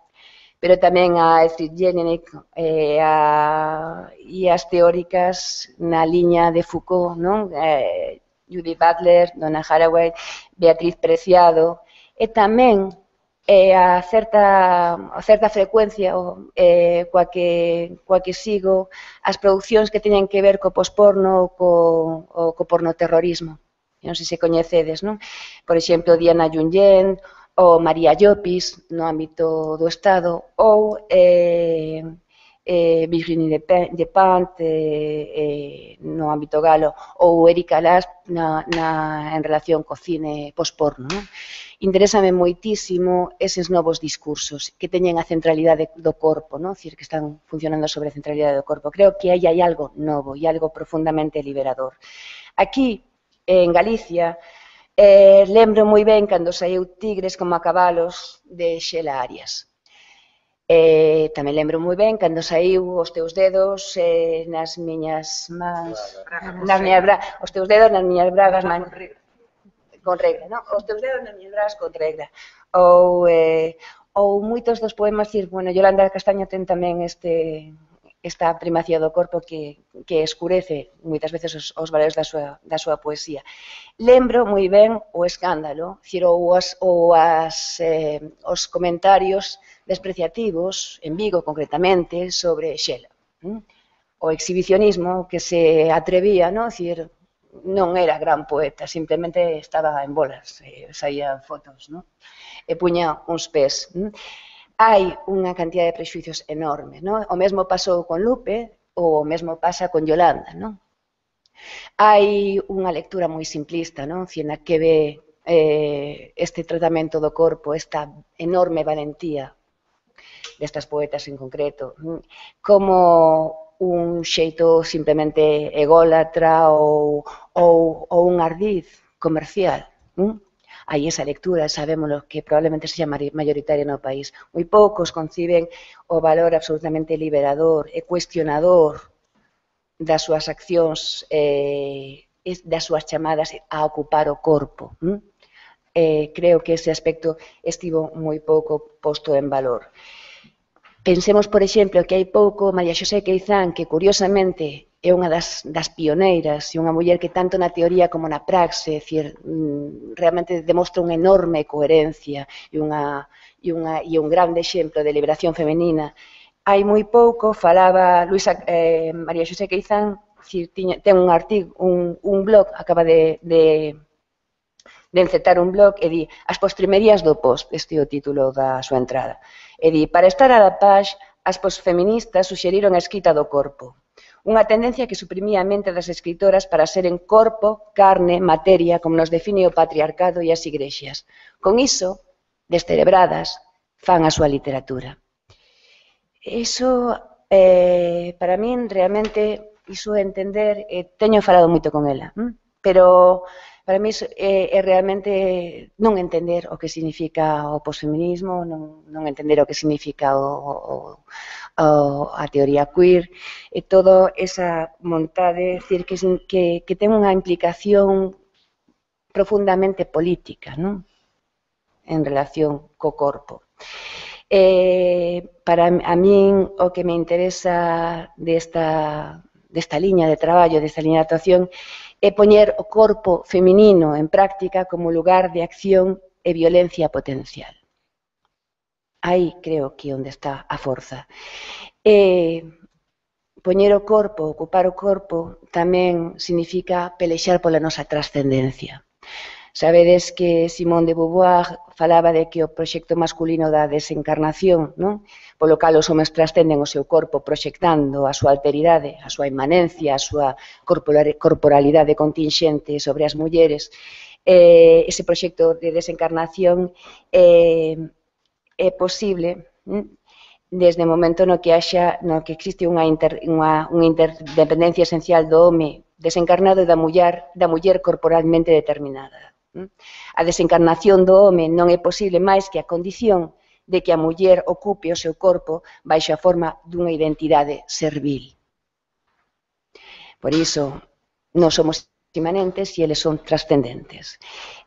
pero tamén a Elfriede Jelinek eh, a, e as teóricas na liña de Foucault, non? Eh, Judith Butler, Donna Haraway, Beatriz Preciado, e tamén eh, a, certa, a certa frecuencia o, eh, coa, que, coa que sigo as producións que teñen que ver co posporno ou co, o, co pornoterrorismo. Non sei se coñecedes, non? Por exemplo, Diana Junyent, ou María Llopis, no ámbito do Estado, ou eh, eh, Virginie Despentes eh, eh, no ámbito galo, ou Erika Last na, na, en relación co cine posporno, non? Interésame moitísimo eses novos discursos que teñen a centralidade do corpo, non? Cir, que están funcionando sobre a centralidade do corpo. Creo que aí hai algo novo e algo profundamente liberador. Aquí, en Galicia, eh, lembro moi ben cando saiu Tigres como a cabalos de Xela Arias. Eh, tamén lembro moi ben cando saiu Os teus dedos eh, nas miñas mans, nas miñas bra... os teus dedos nas miñas bragas, man... con regra, non? Os teus dedos nas miñas bragas con regra. Ou, eh, ou moitos dos poemas, cir, bueno, Yolanda Castaño ten tamén este, esta primacía do corpo que, que escurece moitas veces os, os valores da súa, da súa poesía. Lembro moi ben o escándalo, cir, ou, as, ou as, eh, os comentarios despreciativos, en Vigo concretamente, sobre Xela. ¿Mm? O exhibicionismo que se atrevía, non? Cir, non era gran poeta, simplemente estaba en bolas, eh, saía fotos, non? E puña uns pés. ¿Mm? Hai unha cantidad de prexuicios enormes, non? O mesmo pasou con Lupe, ou o mesmo pasa con Yolanda, non? Hai unha lectura moi simplista, non? Na que ve eh, este tratamento do corpo, esta enorme valentía destas poetas en concreto, como un xeito simplemente ególatra ou, ou, ou un ardiz comercial. ¿Mm? Hai esa lectura, sabémoslo, que probablemente sexa mayoritaria no país. Moi poucos conciben o valor absolutamente liberador e cuestionador das súas accións, eh, das súas chamadas a ocupar o corpo. ¿Mm? Eh, creo que ese aspecto estivo moi pouco posto en valor. Pensemos, por exemplo, que hai pouco María Xosé Queizán, que curiosamente é unha das, das pioneiras e unha muller que tanto na teoría como na praxe, decir, realmente demostra unha enorme coherencia e, unha, e, unha, e un grande exemplo de liberación femenina. Hai moi pouco falaba Luisa, eh, María Xosé Queizán, decir, tiña, ten un artigo, un, un blog, acaba de, de, de encetar un blog e di as postrimerías do post, este é o título da súa entrada. E di, para estar a la paz, as posfeministas suxeriron a escrita do corpo. Unha tendencia que suprimía a mente das escritoras para seren corpo, carne, materia, como nos define o patriarcado e as igrexas. Con iso, descerebradas, fan a súa literatura. Iso, eh, para min, realmente, iso entender, eh, teño falado moito con ela, hm? pero Para mí é, é realmente non entender o que significa o posfeminismo, non, non entender o que significa o, o, o, a teoría queer, e toda esa montade, decir, que, que, que ten unha implicación profundamente política, non? En relación co corpo. Eh, para a min o que me interesa desta, desta liña de traballo, desta liña de actuación, é poñer o corpo feminino en práctica como lugar de acción e violencia potencial. Aí creo que é onde está a forza. E poñer o corpo, ocupar o corpo, tamén significa pelexar pola nosa trascendencia. Sabedes que Simone de Beauvoir falaba de que o proxecto masculino da desencarnación, non? Polo cal os homens trascenden o seu corpo proxectando a súa alteridade, a súa inmanencia, a súa corporalidade contingente sobre as mulleres. Eh, ese proxecto de desencarnación eh, é posible hm? desde o momento no que haxa, no que existe unha, inter, unha, unha interdependencia esencial do home desencarnado e da muller, da muller corporalmente determinada. A desencarnación do home non é posible máis que a condición de que a muller ocupe o seu corpo baixo a forma dunha identidade servil. Por iso, non somos imanentes e eles son trascendentes.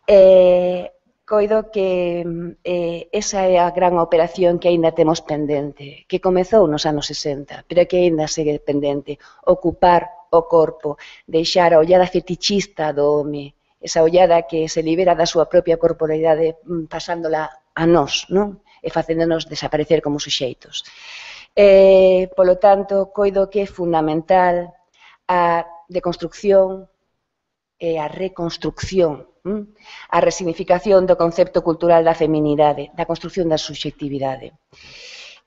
Eh, coido que eh, esa é a gran operación que aínda temos pendente, que comezou nos anos sesenta, pero que aínda segue pendente, ocupar o corpo, deixar a ollada fetichista do home, esa ollada que se libera da súa propia corporalidade pasándola a nós, non? E facéndonos desaparecer como suxeitos. Eh, polo tanto, coido que é fundamental a deconstrucción e a reconstrucción, hm? A resignificación do concepto cultural da feminidade, da construcción da subxectividade.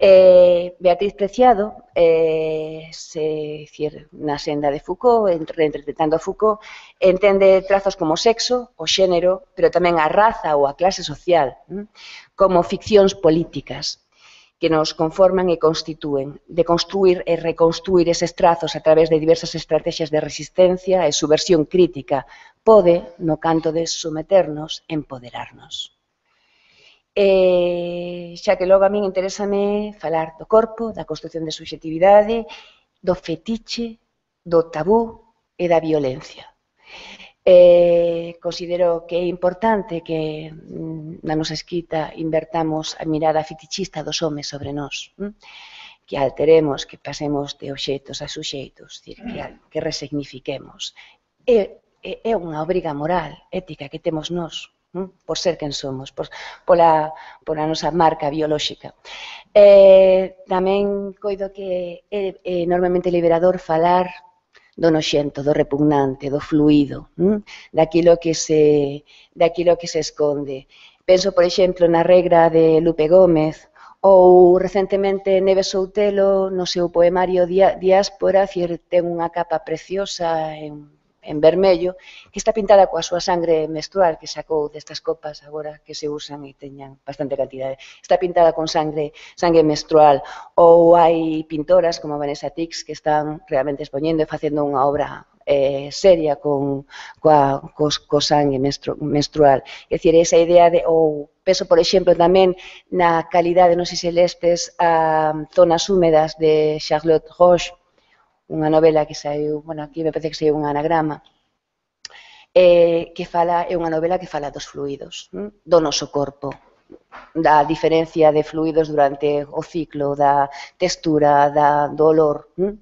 Eh, Beatriz Preciado, eh, se, decir, na senda de Foucault, reinterpretando a Foucault, entende trazos como sexo, o xénero, pero tamén a raza ou a clase social, hm? Como ficcións políticas que nos conforman e constitúen, de construir e reconstruir eses trazos a través de diversas estrategias de resistencia e subversión crítica, pode, no canto de someternos, empoderarnos. Eh, xa que logo a min interésame falar do corpo, da construcción de subxectividade, do fetiche, do tabú e da violencia. Eh, considero que é importante que na nosa escrita invertamos a mirada fetichista dos homes sobre nós, hm? Que alteremos, que pasemos de obxectos a suxeitos, que, que resignifiquemos. É, é unha obriga moral, ética que temos nós, por ser quen somos, por, pola, pola nosa marca biolóxica. Eh, tamén coido que é, é enormemente liberador falar do noxento, do repugnante, do fluido, hm? daquilo que se, daquilo que se esconde. Penso, por exemplo, na regra de Lupe Gómez, ou recentemente Neves Soutelo, no seu poemario Diáspora, ten unha capa preciosa en en vermello, que está pintada coa súa sangre menstrual, que sacou destas copas agora que se usan e teñan bastante cantidade. Está pintada con sangre, sangre menstrual, ou hai pintoras como Vanessa Tix que están realmente expoñendo e facendo unha obra eh, seria con coa, cos, co sangue menstru, menstrual. É dicir, esa idea de, ou penso, por exemplo, tamén na calidade, non sei se lestes, a Zonas húmedas de Charlotte Roche, unha novela que saiu, bueno, aquí me parece que saiu un anagrama, eh, que fala, é unha novela que fala dos fluidos, hm? do noso corpo, da diferencia de fluidos durante o ciclo, da textura, da, do olor. Hm?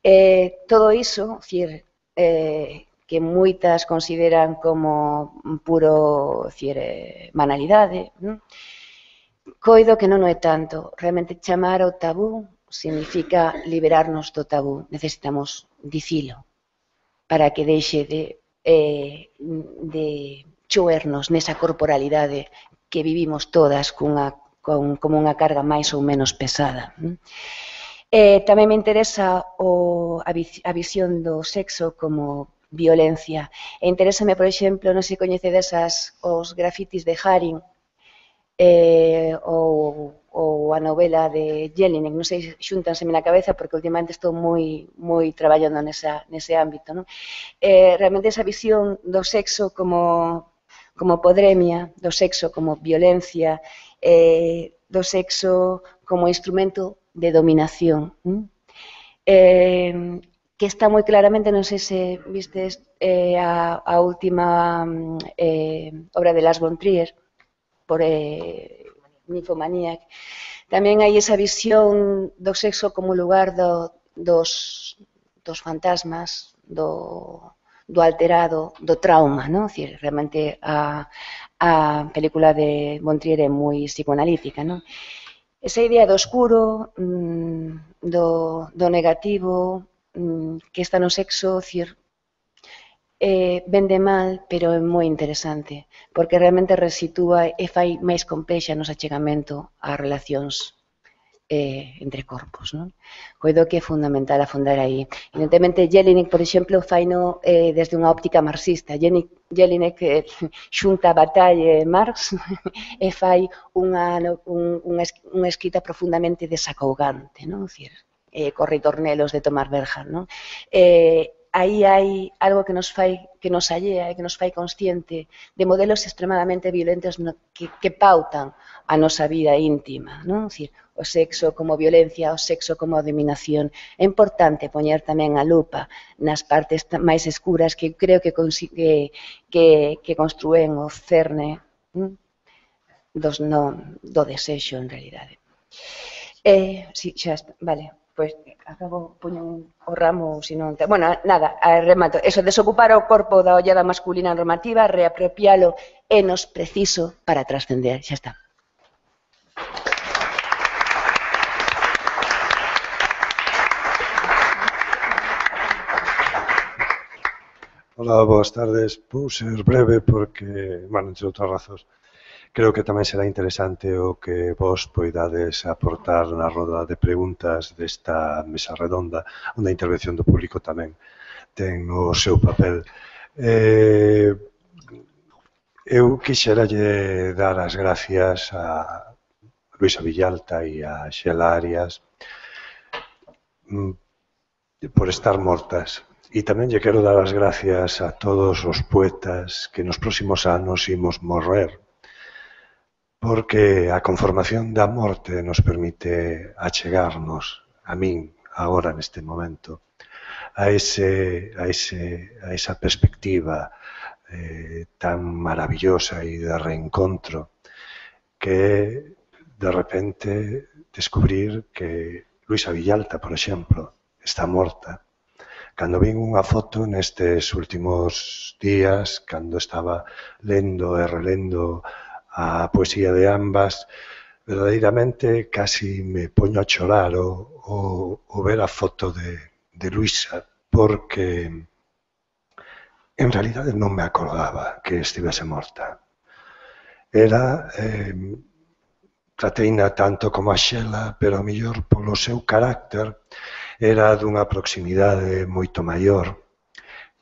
Eh, todo iso, decir, eh, que moitas consideran como puro, decir, eh, banalidade, hm? Coido que non o é tanto, realmente chamar ao tabú significa liberarnos do tabú, necesitamos dicilo para que deixe de, eh, de choernos nesa corporalidade que vivimos todas cunha, con, como unha carga máis ou menos pesada. Eh, tamén me interesa o, a, a visión do sexo como violencia. E interésame, por exemplo, non se coñece desas os grafitis de Haring, eh, ou, ou a novela de Jelinek, non sei, xúntanseme na cabeza porque últimamente estou moi, moi traballando nesa, nese ámbito, non? Eh, realmente esa visión do sexo como, como podremia, do sexo como violencia, eh, do sexo como instrumento de dominación, non? Eh, que está moi claramente, non sei se vistes eh, a, a última eh, obra de Lars von Trier, por eh, Nymphomaniac. Tamén hai esa visión do sexo como lugar do, dos, dos fantasmas, do, do alterado, do trauma, non? Decir, realmente a, a película de von Trier é moi psicoanalítica, non? Esa idea do oscuro, do, do negativo, que está no sexo, decir, eh, vende mal, pero é moi interesante, porque realmente resitúa e fai máis complexa nos achegamento ás relacións eh, entre corpos, non? Coido que é fundamental afondar aí. Evidentemente, Jelinek, por exemplo, faino eh, desde unha óptica marxista. Jelinek eh, xunta Bataille e Marx e fai unha, un, unha, unha escrita profundamente desacougante, non? Decir, eh, cos ritornelos de Tomás Berger, non? Eh, aí hai algo que nos fai, que nos allea e que nos fai consciente de modelos extremadamente violentos no, que, que pautan a nosa vida íntima, non? Decir, o sexo como violencia, o sexo como dominación. É importante poñer tamén a lupa nas partes máis escuras que creo que, que, que, que construen o cerne hm? Dos no, do desexo, en realidade. Eh, sí, xa está, vale. Pois acabo, poño o ramo, se non... Bueno, nada, remato. Eso, desocupar o corpo da ollada masculina normativa, reapropialo é nos preciso para trascender. Xa está. Hola, boas tardes. Vou ser breve porque, bueno, entre outras razóns, creo que tamén será interesante o que vos poidades aportar na roda de preguntas desta mesa redonda, onde a intervención do público tamén ten o seu papel. Eh, eu quixeralle dar as gracias a Luisa Villalta e a Xela Arias por estar mortas. E tamén lle quero dar as gracias a todos os poetas que nos próximos anos imos morrer, porque a conformación da morte nos permite achegarnos, a min, agora neste momento, a, ese, a, ese, a esa perspectiva eh, tan maravillosa e de reencontro que de repente descubrir que Luisa Villalta, por exemplo, está morta. Cando vin unha foto nestes últimos días, cando estaba lendo e relendo a poesía de ambas, verdadeiramente casi me poño a chorar o, o, o ver a foto de, de Luisa, porque en realidade non me acordaba que estivese morta. Era, eh, trateina tanto como a Xela, pero a mellor polo seu carácter, era dunha proximidade moito maior.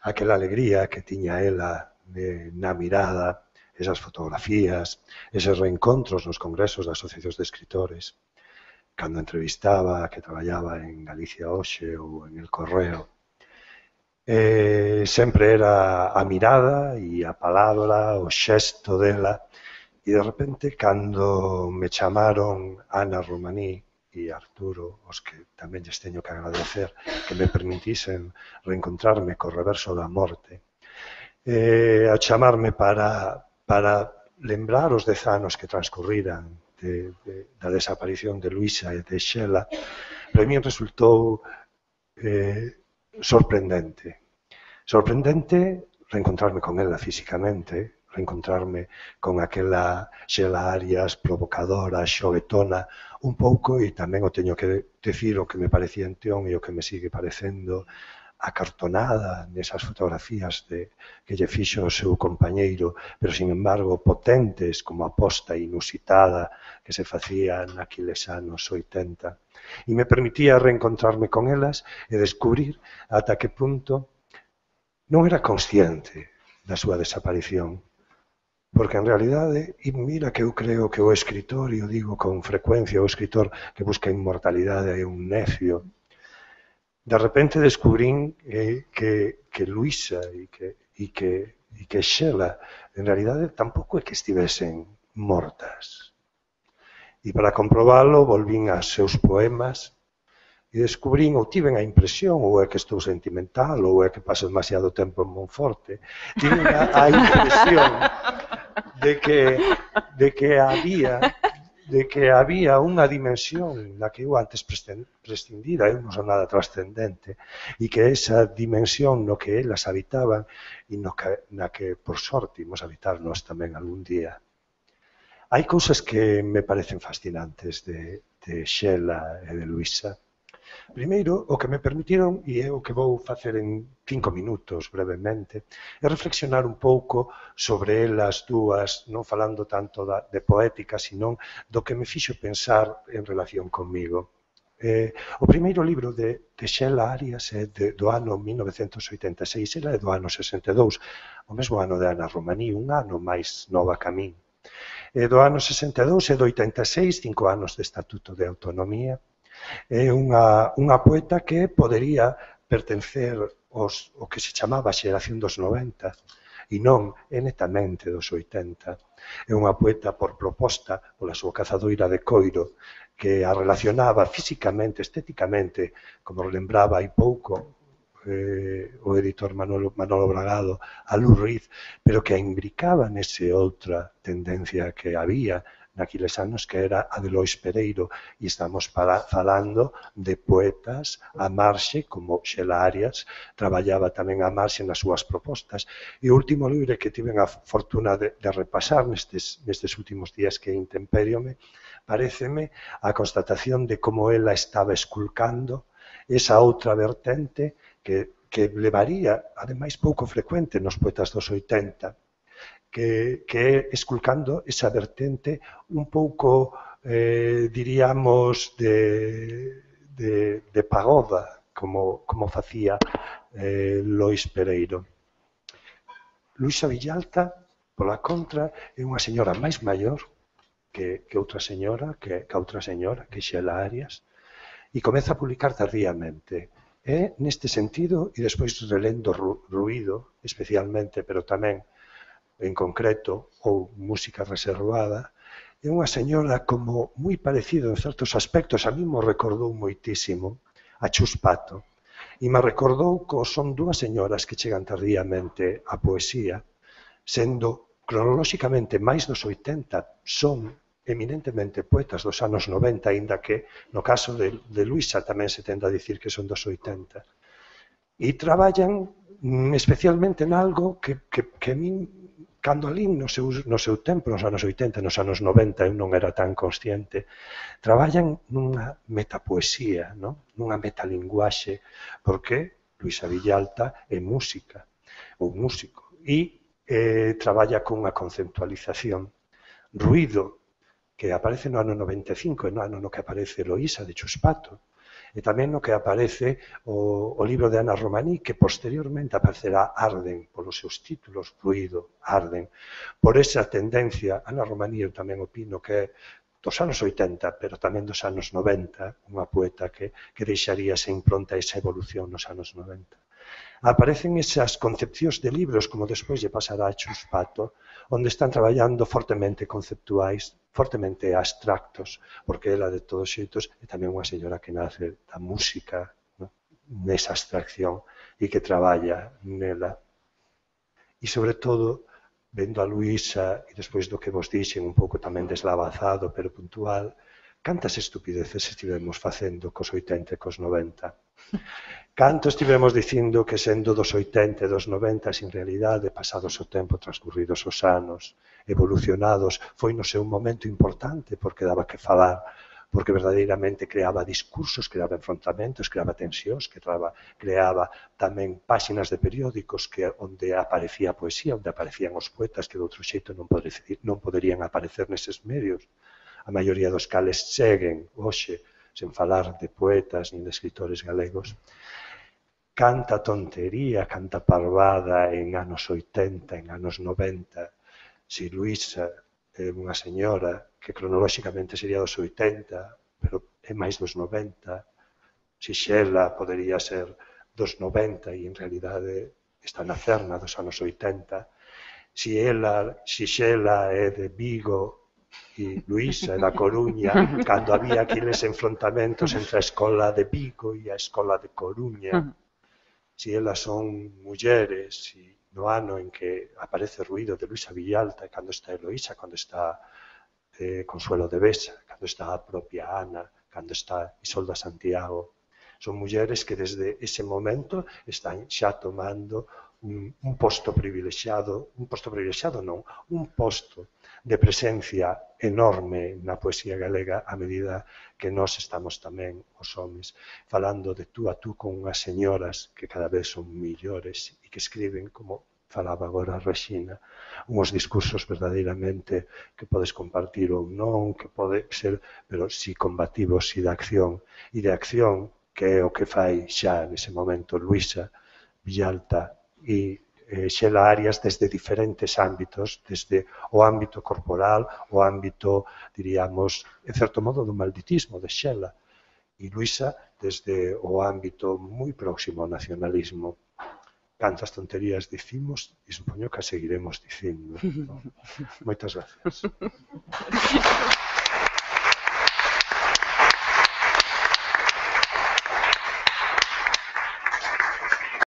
Aquela alegría que tiña ela de, na mirada, esas fotografías, eses reencontros nos congresos das asociacións de escritores, cando entrevistaba que traballaba en Galicia Hoxe ou en El Correo. Eh, sempre era a mirada e a palabra, o xesto dela, e de repente, cando me chamaron Ana Romaní e Arturo, os que tamén lles teño que agradecer que me permitisen reencontrarme co Reverso da Morte, eh, a chamarme para... para lembrar os dez anos que transcurriran de, de, da desaparición de Luisa e de Xela, para mí resultou eh, sorprendente. Sorprendente reencontrarme con ela físicamente, reencontrarme con aquela Xela Arias provocadora, xoguetona, un pouco, e tamén o teño que decir o que me parecía entión e o que me sigue parecendo acartonada nesas fotografías de, que lle fixo o seu compañeiro, pero, sin embargo, potentes como a posta inusitada que se facía naqueles anos oitenta. E me permitía reencontrarme con elas e descubrir ata que punto non era consciente da súa desaparición. Porque en realidade, e mira que eu creo que o escritor, e o digo con frecuencia, o escritor que busca inmortalidade é un necio. De repente descubrín eh, que, que Luisa e que, e que, e que Xela en realidade tampouco é que estivesen mortas. E para comprobalo volvín aos seus poemas e descubrín, ou tiven a impresión, ou é que estou sentimental, ou é que paso demasiado tempo en Monforte, tiven a, a impresión de que, de que había de que había unha dimensión na que eu antes prescindira, eu non son nada trascendente, e que esa dimensión no que elas habitaban e no que, na que, por sorte, imos habitar nós tamén algún día. Hai cousas que me parecen fascinantes de, de Xela e de Luisa. Primeiro, o que me permitiron, e é o que vou facer en cinco minutos brevemente, é reflexionar un pouco sobre elas dúas, non falando tanto da, de poética, sino do que me fixo pensar en relación comigo. Eh, o primeiro libro de, de Xela Arias é de, do ano mil novecentos oitenta e seis, ela é do ano sesenta e dous, o mesmo ano de Ana Romaní, un ano máis nova que a min. É do ano sesenta e dous e do oitenta e seis, cinco anos de Estatuto de Autonomía. É unha, unha poeta que podería pertencer aos, o que se chamaba a xeración dos noventa e non é netamente dos oitenta. É unha poeta por proposta pola súa cazadoira de coiro que a relacionaba físicamente, estéticamente, como lembraba hai pouco eh, o editor Manolo, Manolo Bragado, a Lou Reed, pero que a imbricaba nese outra tendencia que había naquiles anos que era a de Lois Pereiro, e estamos para, falando de poetas a marxe, como Xela Arias, traballaba tamén a marxe nas súas propostas. E o último libro que tiven a fortuna de, de repasar nestes, nestes últimos días que é Intemperiome, paréceme a constatación de como ela estaba esculcando esa outra vertente que, que levaría, ademais pouco frecuente nos poetas dos oitenta, que, que é esculcando esa vertente un pouco, eh, diríamos, de, de, de pagoda, como, como facía eh, Lois Pereiro. Luisa Villalta, pola contra, é unha señora máis maior que, que outra señora, que, que outra señora, que Xela Arias, e comeza a publicar tardíamente. É neste sentido, e despois relendo Ruído, especialmente, pero tamén en concreto, ou música reservada, é unha señora como moi parecido en certos aspectos, a mí me recordou moitísimo a Chus Pato, e me recordou que son dúas señoras que chegan tardíamente á poesía, sendo cronolóxicamente máis dos oitenta, son eminentemente poetas dos anos noventa, aínda que no caso de, de Luisa tamén se tende a dicir que son dos oitenta. E traballan especialmente en algo que, que, que a min, cando alín no seu, no seu tempo, nos anos oitenta, nos anos noventa, eu non era tan consciente, traballan nunha metapoesía, non? Nunha metalinguaxe, porque Luisa Villalta é música, ou músico, e eh, traballa con unha conceptualización. Ruído, que aparece no ano noventa e cinco, no ano no que aparece Loísa de Chus Pato, e tamén no que aparece o, o libro de Ana Romaní, que posteriormente aparecerá Arden, polos seus títulos, Ruído, Arden. Por esa tendencia, Ana Romaní eu tamén opino que é dos anos oitenta, pero tamén dos anos noventa, unha poeta que, que deixaría esa impronta, esa evolución nos anos noventa. Aparecen esas concepcións de libros, como despois lle pasará a Chus Pato, onde están traballando fortemente conceptuais, fortemente abstractos, porque ela de todos xeitos é tamén unha señora que nace da música, ¿no? Nesa abstracción e que traballa nela. E sobre todo, vendo a Luisa, e despois do que vos dixen un pouco tamén deslavazado, pero puntual, cantas estupideces estivemos facendo cos oitenta e cos noventa. Canto estivemos dicindo que sendo dos oitenta e dos noventa, sin realidade, pasados o tempo, transcurridos os anos, evolucionados, foi no seu momento importante porque daba que falar, porque verdadeiramente creaba discursos, creaba enfrontamentos, creaba tensións, creaba, creaba tamén páxinas de periódicos que onde aparecía a poesía, onde aparecían os poetas que de outro xeito non, poder, non poderían aparecer neses medios. A maioría dos cales seguen hoxe, sen falar de poetas nin de escritores galegos. Canta tontería, canta parvada en anos oitenta, en anos noventa, si Luísa é unha señora que cronolóxicamente sería dos oitenta, pero é máis dos noventa, si Xela podería ser dos noventa e en realidade está na cerna dos anos oitenta, si ela, si Xela é de Vigo e Luísa é da Coruña, cando había aqueles enfrontamentos entre a escola de Vigo e a escola de Coruña, si elas son mulleres, e no ano en que aparece o ruído de Luisa Villalta, cando está Eloísa, cando está eh, Consuelo de Besa, cando está a propia Ana, cando está Isolda Santiago, son mulleres que desde ese momento están xa tomando un, un posto privilexiado, un posto privilexiado non, un posto de presencia enorme na poesía galega a medida que nós estamos tamén os homes falando de tú a tú con unhas señoras que cada vez son millores e que escriben, como falaba agora Rexina, unhos discursos verdadeiramente que podes compartir ou non, que pode ser, pero si combativos e de acción, e de acción que é o que fai xa nese momento Luísa Villalta e eh, Xela Arias desde diferentes ámbitos, desde o ámbito corporal, o ámbito, diríamos, en certo modo, do malditismo de Xela, e Luísa desde o ámbito moi próximo ao nacionalismo. Cantas tonterías dicimos e supoño que a seguiremos dicindo. Moitas gracias.